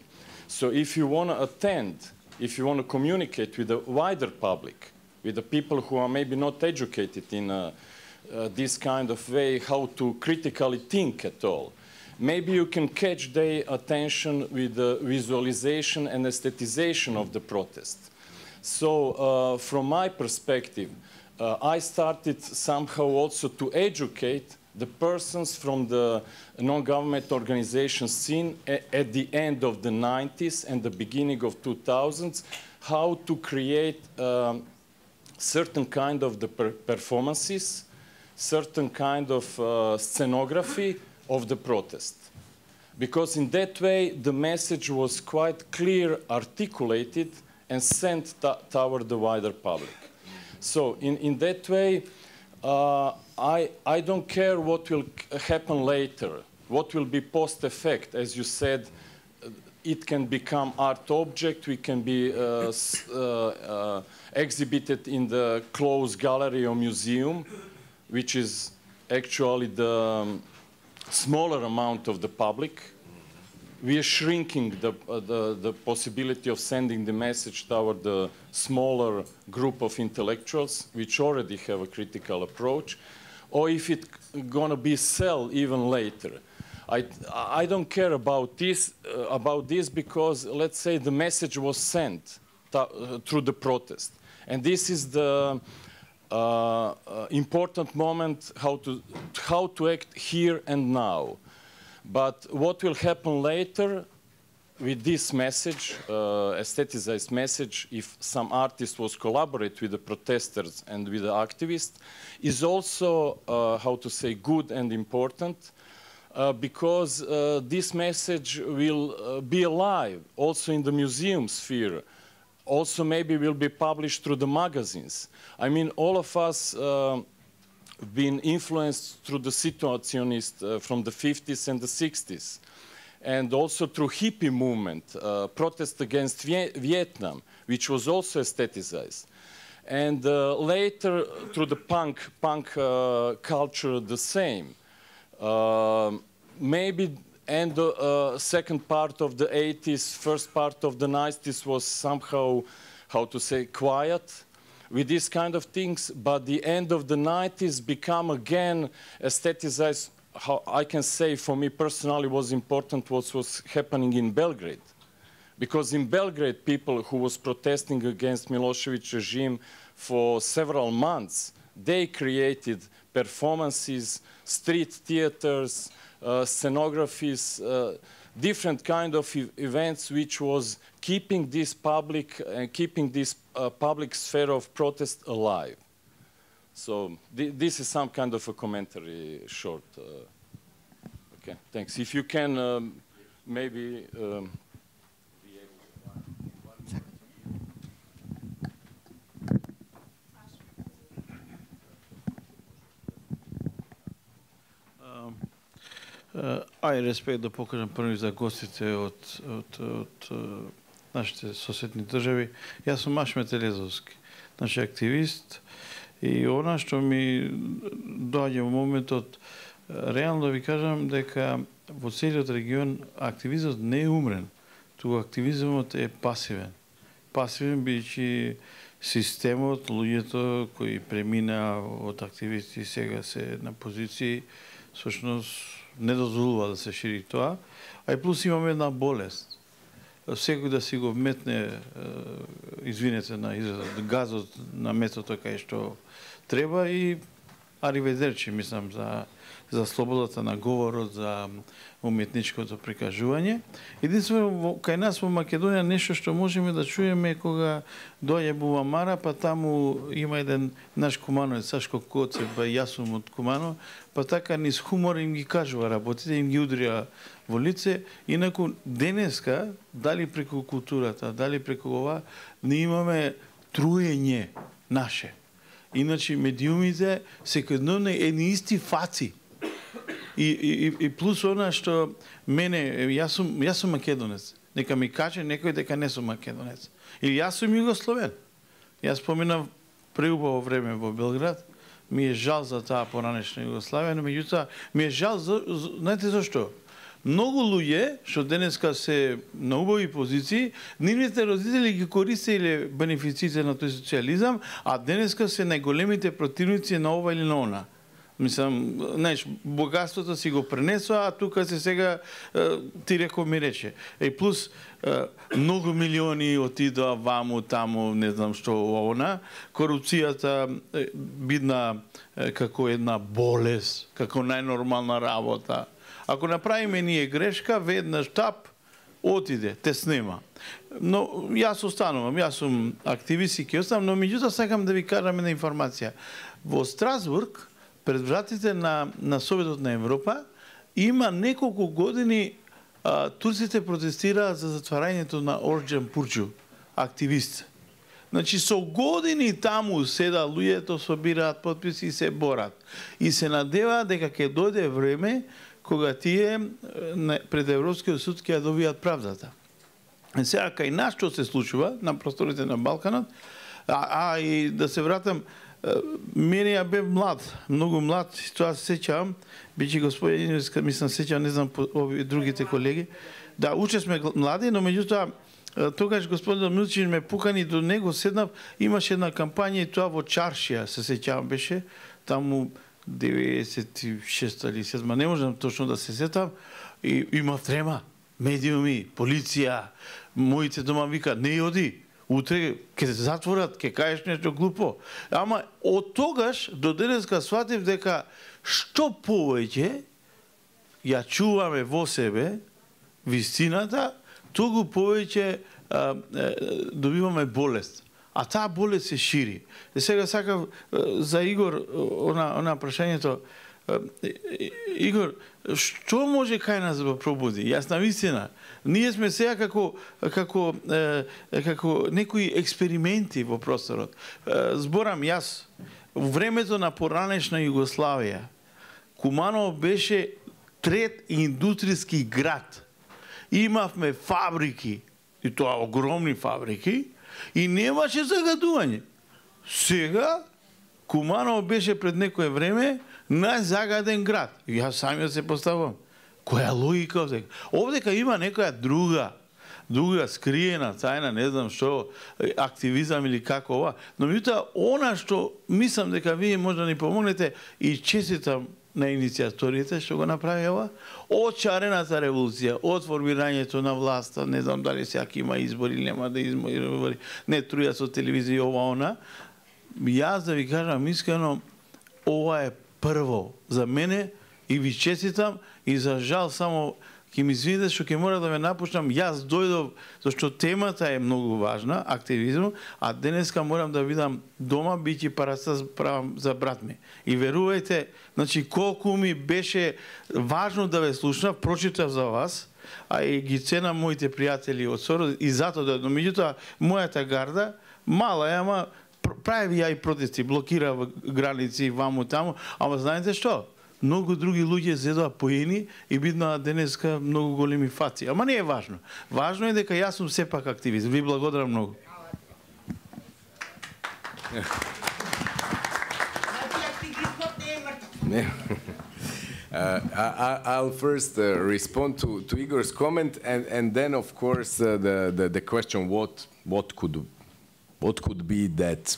So if you want to attend, if you want to communicate with the wider public, with the people who are maybe not educated in uh, uh, this kind of way, how to critically think at all, maybe you can catch their attention with the visualization and aestheticization of the protest. So uh, from my perspective, uh, I started somehow also to educate the persons from the non-government organization scene at the end of the nineties and the beginning of two thousands, how to create um, certain kind of the per performances, certain kind of uh, scenography of the protest. Because in that way, the message was quite clear, articulated, and sent toward the wider public. So in, in that way, uh, I, I don't care what will happen later, what will be post-effect. As you said, it can become art object, we can be uh, uh, uh, exhibited in the closed gallery or museum, which is actually the um, smaller amount of the public. We are shrinking the, uh, the, the possibility of sending the message toward the smaller group of intellectuals, which already have a critical approach, or if it's going to be sell even later. I, I don't care about this, uh, about this because, let's say, the message was sent uh, through the protest. And this is the uh, uh, important moment how to, how to act here and now. But what will happen later with this message, uh, aestheticized message, if some artist was collaborate with the protesters and with the activists, is also, uh, how to say, good and important, uh, because uh, this message will uh, be alive also in the museum sphere, also maybe will be published through the magazines. I mean, all of us uh, been influenced through the situationist uh, from the fifties and the sixties, and also through hippie movement, uh, protest against Viet Vietnam, which was also aestheticized. And uh, later, through the punk, punk uh, culture, the same. Uh, maybe and the uh, second part of the eighties, first part of the nineties was somehow, how to say, quiet with these kind of things, but the end of the nineties become again aestheticized. How I can say, for me personally, was important what was happening in Belgrade. Because in Belgrade, people who was protesting against Milošević regime for several months, they created performances, street theaters, uh, scenographies, uh, different kind of e events which was keeping this public and uh, keeping this uh, public sphere of protest alive. So th this is some kind of a commentary short. Uh, okay, thanks. If you can um, maybe... Um, Ај респект да покажам први за гостите од, од, од нашите соседни држави. Јас сум Ашмет Елезовски, значи активист, и она што ми доаѓа во моментот, реално да ви кажам дека во целиот регион активизмот не е умрен, туку активизмот е пасивен. Пасивен бидејќи системот, луѓето кои премина од активисти сега се на позиции, всушност не дозволува да се шири тоа, а и плюс имаме една болест. Секој да си го вметне, извинете на изразот, газот на метото кај што треба и ариведерчи, мислам, за, за слободата на говорот, за уметничкото прикажување. Единствено, кај нас во Македонија нешто што можеме да чуеме кога доаѓа Бувамара, па таму има еден наш кумановец, Сашко Коцев, ба јас сум од Кумано, па така низ хумор им ги кажува работите, им ги удрија во лице. Инаку денеска, дали преку културата, дали преку ова, не имаме труење наше. Иначе медиумите секојдневно едни исти фаци. И, и, и плюс она што мене, јас сум, јас сум македонец. Нека ми каже некој дека не сум македонец. Или јас сум југословен. Јас поминав преубаво време во Белград. Ми е жал за таа поранешна Југославија, но меѓутоа ми е жал, за, за, знаете зашто? Многу луѓе што денеска се на убави позиции, нивните родители ги користеле бенефициите на тој социализам, а денеска се најголемите противници на ова или на она. Мислам, знаеш, богатството си го пренесува, а тука се сега ти реко ми рече. И плюс многу милиони отидоа ваму, таму, не знам што она. Корупцијата бидна како една болест, како најнормална работа. Ако направиме ние грешка, веднаш тап, отиде, те снема. Но јас останувам, јас сум активист и ќе останам, но меѓутоа сакам да ви кажам една информација. Во Страсбург, пред вратите на, на Советот на Европа, има неколку години а, турците протестираат за затварањето на Орџан Пурчу, активист. Значи, со години таму седа луѓето, собираат подписи и се борат. И се надеваат дека ќе дојде време кога тие пред Европскиот суд ќе ја добијат правдата. И сега, кај нас што се случува на просторите на Балканот, а, а и да се вратам, мене ја бев млад, многу млад, тоа се сеќавам, бичи господин, мислам сеќавам, не знам по ови другите колеги, да уче сме млади, но меѓутоа тогаш господин Милчин ме пукани до него, седнав, имаше една кампања и тоа во Чаршија, се сеќавам беше, таму деветдесет и шеста или седма, не можам точно да се сетам, и има трема, медиуми, полиција, моите дома вика, не оди, утре ќе се затворат, ќе кажеш нешто глупо. Ама од тогаш до денеска сватив дека што повеќе ја чуваме во себе вистината, тогу повеќе а, а, добиваме болест. А таа болест се шири. И сега сакав за Игор она она прашањето. Игор, што може кај нас да пробуди? Јас на вистина, ние сме сега како како како некои експерименти во просторот. Зборам јас, во времето на поранешна Југославија, Куманово беше трет индустријски град. Имавме фабрики, и тоа огромни фабрики, и немаше загадување. Сега, Куманово беше пред некое време најзагаден град. И јас самиот се поставам. Која логика овдека? Овдека има некоја друга, друга скриена, тајна, не знам што, активизам или како ова. Но меѓутоа, она што мислам дека вие може да ни помогнете и честитам на иницијаторите што го направи ова, од шарената револуција, од формирањето на власта, не знам дали сега има избори или нема да избори, не труја со телевизија ова она, јас да ви кажам искрено, ова е прво за мене и ви честитам и за жал само ќе ми извините што ќе мора да ме напуштам. Јас дојдов зашто темата е многу важна, активизм, а денеска морам да видам дома биќе параца за брат ми. И верувајте, значи колку ми беше важно да ве слушнав, прочитав за вас, а и ги ценам моите пријатели од Сород и затоа да, но меѓутоа мојата гарда мала е, ама прави ја и протести, блокира граници ваму таму, ама знаете што? Многу други луѓе зедоа поени и биднаа денеска многу големи фаци. Ама не е важно. Важно е дека јас сум сепак активист. Ви благодарам многу. Uh, I, I'll first uh, respond to, to Igor's comment, and, and then, of course, uh, the, the the question: what what could what could be that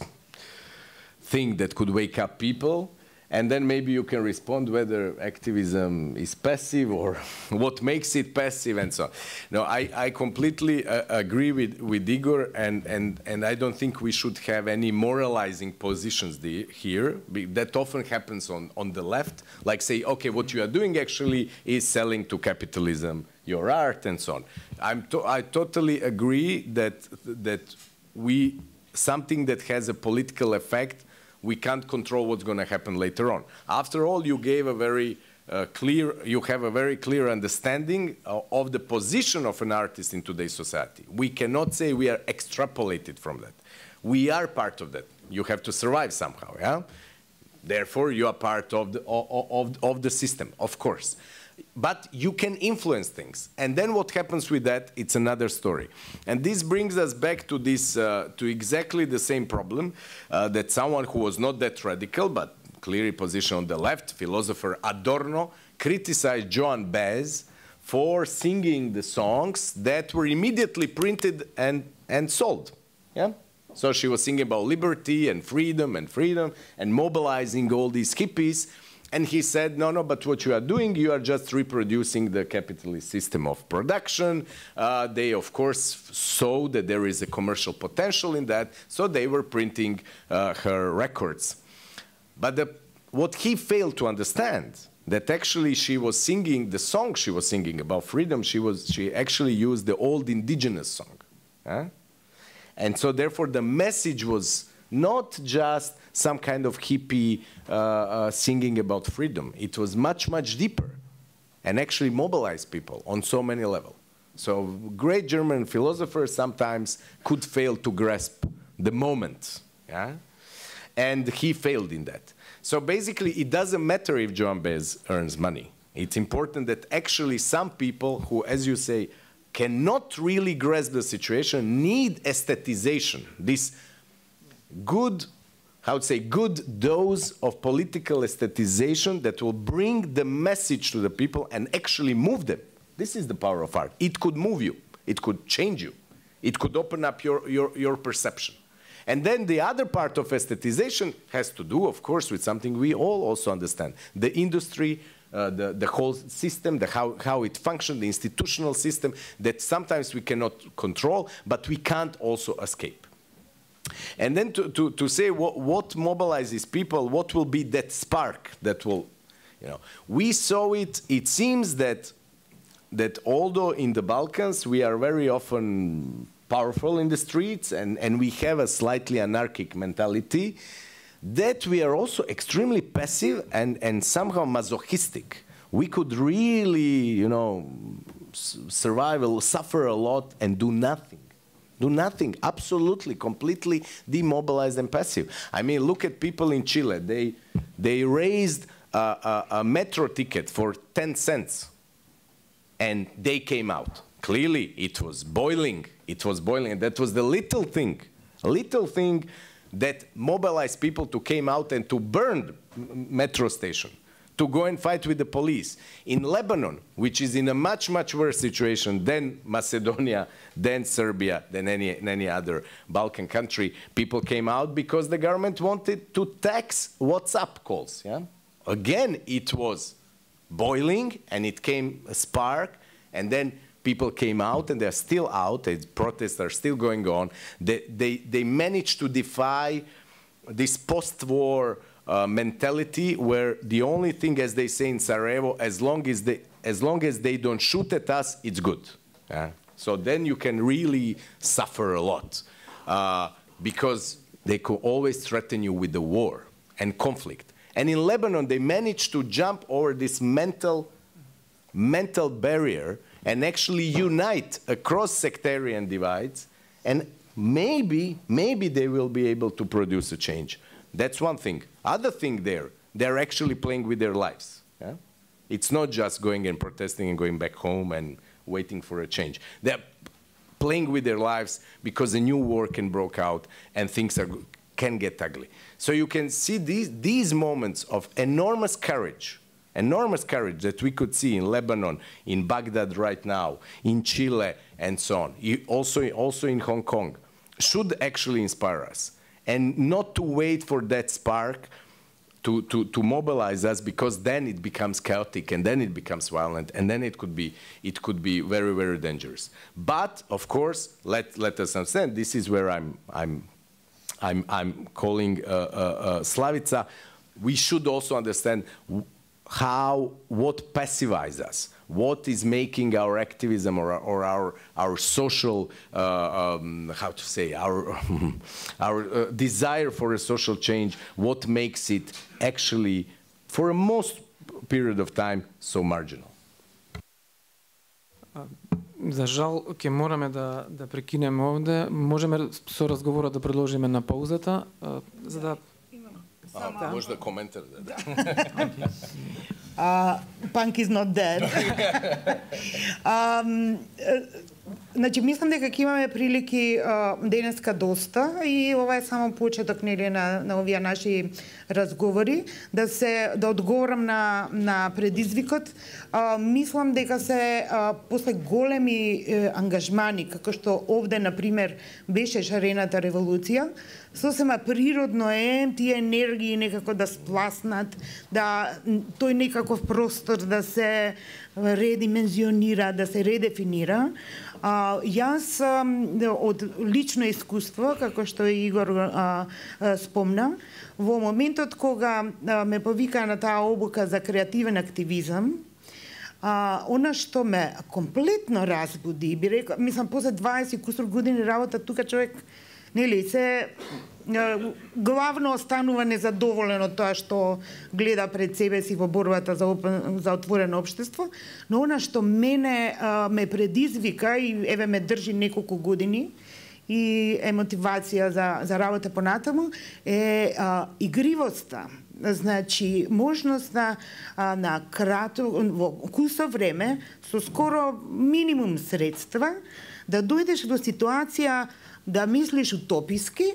thing that could wake up people? And then maybe you can respond whether activism is passive or what makes it passive and so on. No, I, I completely uh, agree with, with Igor, and, and, and I don't think we should have any moralizing positions the, here. That often happens on, on the left, like say, okay, what you are doing actually is selling to capitalism your art and so on. I'm to, I totally agree that, that we, something that has a political effect, we can't control what's going to happen later on. After all, you gave a very uh, clear, you have a very clear understanding of, of the position of an artist in today's society. We cannot say we are extrapolated from that. We are part of that. You have to survive somehow, yeah? Therefore, you are part of the, of, of, of the system, of course. But you can influence things. And then what happens with that, it's another story. And this brings us back to this, uh, to exactly the same problem uh, that someone who was not that radical, but clearly positioned on the left, philosopher Adorno, criticized Joan Baez for singing the songs that were immediately printed and, and sold. Yeah? So she was singing about liberty and freedom and freedom and mobilizing all these hippies. And he said, no, no, but what you are doing, you are just reproducing the capitalist system of production. Uh, they, of course, saw that there is a commercial potential in that, so they were printing uh, her records. But the, what he failed to understand, that actually she was singing the song she was singing about freedom, she, was, she actually used the old indigenous song. Huh? And so therefore the message was not just some kind of hippie uh, uh, singing about freedom. It was much, much deeper and actually mobilized people on so many levels. So great German philosophers sometimes could fail to grasp the moment. Yeah? And he failed in that. So basically, it doesn't matter if Joan Baez earns money. It's important that actually some people who, as you say, cannot really grasp the situation need aesthetization, this good, I would say, good dose of political aesthetization that will bring the message to the people and actually move them. This is the power of art. It could move you. It could change you. It could open up your, your, your perception. And then the other part of aesthetization has to do, of course, with something we all also understand. The industry, uh, the, the whole system, the how, how it functions, the institutional system that sometimes we cannot control, but we can't also escape. And then to, to, to say what, what mobilizes people, what will be that spark that will, you know, we saw it, it seems that, that although in the Balkans we are very often powerful in the streets and, and we have a slightly anarchic mentality, that we are also extremely passive and, and somehow masochistic. We could really, you know, survive, suffer a lot and do nothing. Do nothing, absolutely, completely demobilized and passive. I mean, look at people in Chile. They, they raised a, a, a metro ticket for ten cents, and they came out. Clearly, it was boiling. It was boiling, and that was the little thing, little thing that mobilized people to came out and to burn metro station, to go and fight with the police. In Lebanon, which is in a much, much worse situation than Macedonia, than Serbia, than any, any other Balkan country, people came out because the government wanted to tax WhatsApp calls. Yeah? Again, it was boiling, and it came a spark, and then people came out, and they're still out, and protests are still going on. They, they, they managed to defy this post-war Uh, mentality where the only thing, as they say in Sarajevo, as long as they, as long as they don't shoot at us, it's good. Yeah? So then you can really suffer a lot uh, because they could always threaten you with the war and conflict. And in Lebanon, they managed to jump over this mental, mental barrier and actually unite across sectarian divides, and maybe, maybe they will be able to produce a change. That's one thing. Other thing there, they're actually playing with their lives. Yeah? It's not just going and protesting and going back home and waiting for a change. They're playing with their lives because a new war can break out and things are, can get ugly. So you can see these, these moments of enormous courage, enormous courage that we could see in Lebanon, in Baghdad right now, in Chile, and so on. Also, also in Hong Kong, should actually inspire us. And not to wait for that spark to, to, to mobilize us, because then it becomes chaotic, and then it becomes violent, and then it could be, it could be very, very dangerous. But, of course, let, let us understand, this is where I'm, I'm, I'm, I'm calling uh, uh, uh, Slavica. We should also understand how, what pacifies us, what is making our activism or, or our, our social, uh, um, how to say, our, our uh, desire for a social change, what makes it actually, for a most period of time, so marginal. За жал, ќе мораме да, да прекинеме овде. Можеме со разговорот да продолжиме на паузата, за да... А, може да коментар, да. Uh, punk is not dead. um, Значи, мислам дека ќе имаме прилики uh, денеска доста, и ова е само почеток, нели, на, на овие наши разговори, да се да одговорам на на предизвикот. Uh, мислам дека се uh, после големи uh, ангажмани, како што овде на пример беше шарената револуција, сосема природно е тие енергии некако да спласнат, да тој некаков простор да се редимензионира, да се редефинира. А, јас а, од лично искуство, како што Игор а, а, спомна, во моментот кога а, ме повика на таа обука за креативен активизам, а, она што ме комплетно разбуди, би рекла, мислам, после дваесет кусур години работа тука, човек, нели, се главно останува незадоволен од тоа што гледа пред себе си во борбата за, за отворено општество, но она што мене а, ме предизвика и еве ме држи неколку години и е мотивација за, за работа понатаму е а, игривоста. Значи, можноста а, на кратко, во кусо време, со скоро минимум средства, да дојдеш до ситуација да мислиш утописки,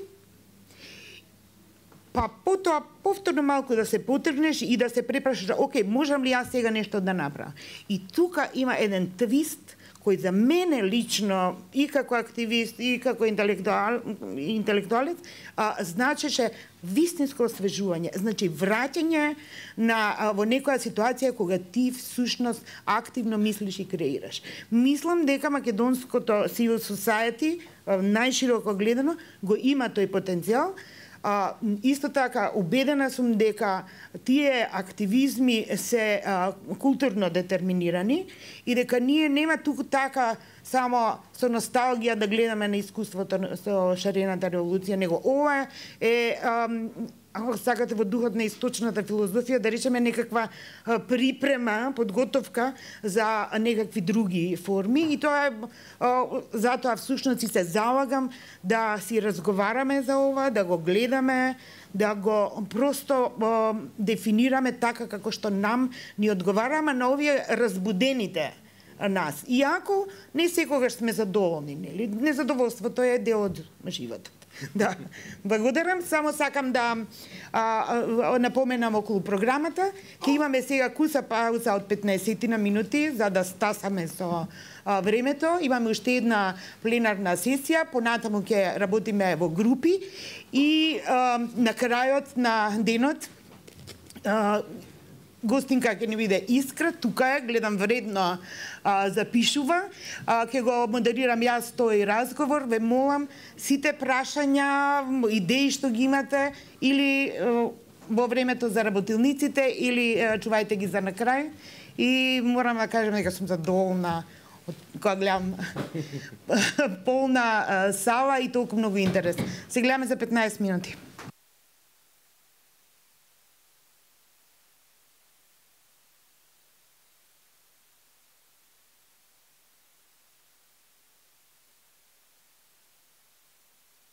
па потоа повторно малку да се потргнеш и да се препрашаш, окей, можам ли јас сега нешто да направам? И тука има еден твист кој за мене лично и како активист и како интелектуал, интелектуалец а, значеше вистинско освежување, значи враќање на а, во некоја ситуација кога ти всушност активно мислиш и креираш. Мислам дека македонското civil society најшироко гледано го има тој потенцијал. А, исто така, убедена сум дека тие активизми се а, културно детерминирани и дека ние нема туку така само со носталгија да гледаме на искуството со шарената револуција, него ова е, ако сакате, во духот на источната филозофија, да речеме некаква припрема, подготовка за некакви други форми, и тоа е, затоа всушност и се залагам да си разговараме за ова, да го гледаме, да го просто о, дефинираме така како што нам ни одговараме на овие разбудените нас. Иако не секогаш сме задоволни, нели? Незадоволството е дел од животот. Да, благодарам. Само сакам да а, а, напоменам околу програмата. Ке имаме сега куса пауза од петнаесет на минути за да стасаме со а, времето. Имаме уште една пленарна сесија, понатаму ќе работиме во групи и а, на крајот на денот а, гостинка ќе ни биде Искра, тука е, гледам вредно а, запишува. А, ќе го модерирам јас тој разговор, ве молам сите прашања, идеи што ги имате или а, во времето за работилниците или а, чувајте ги за на крај. И морам да кажам дека сум задоволна од кога гледам полна а, сала и толку многу интерес. Се гледаме за петнаесет минути.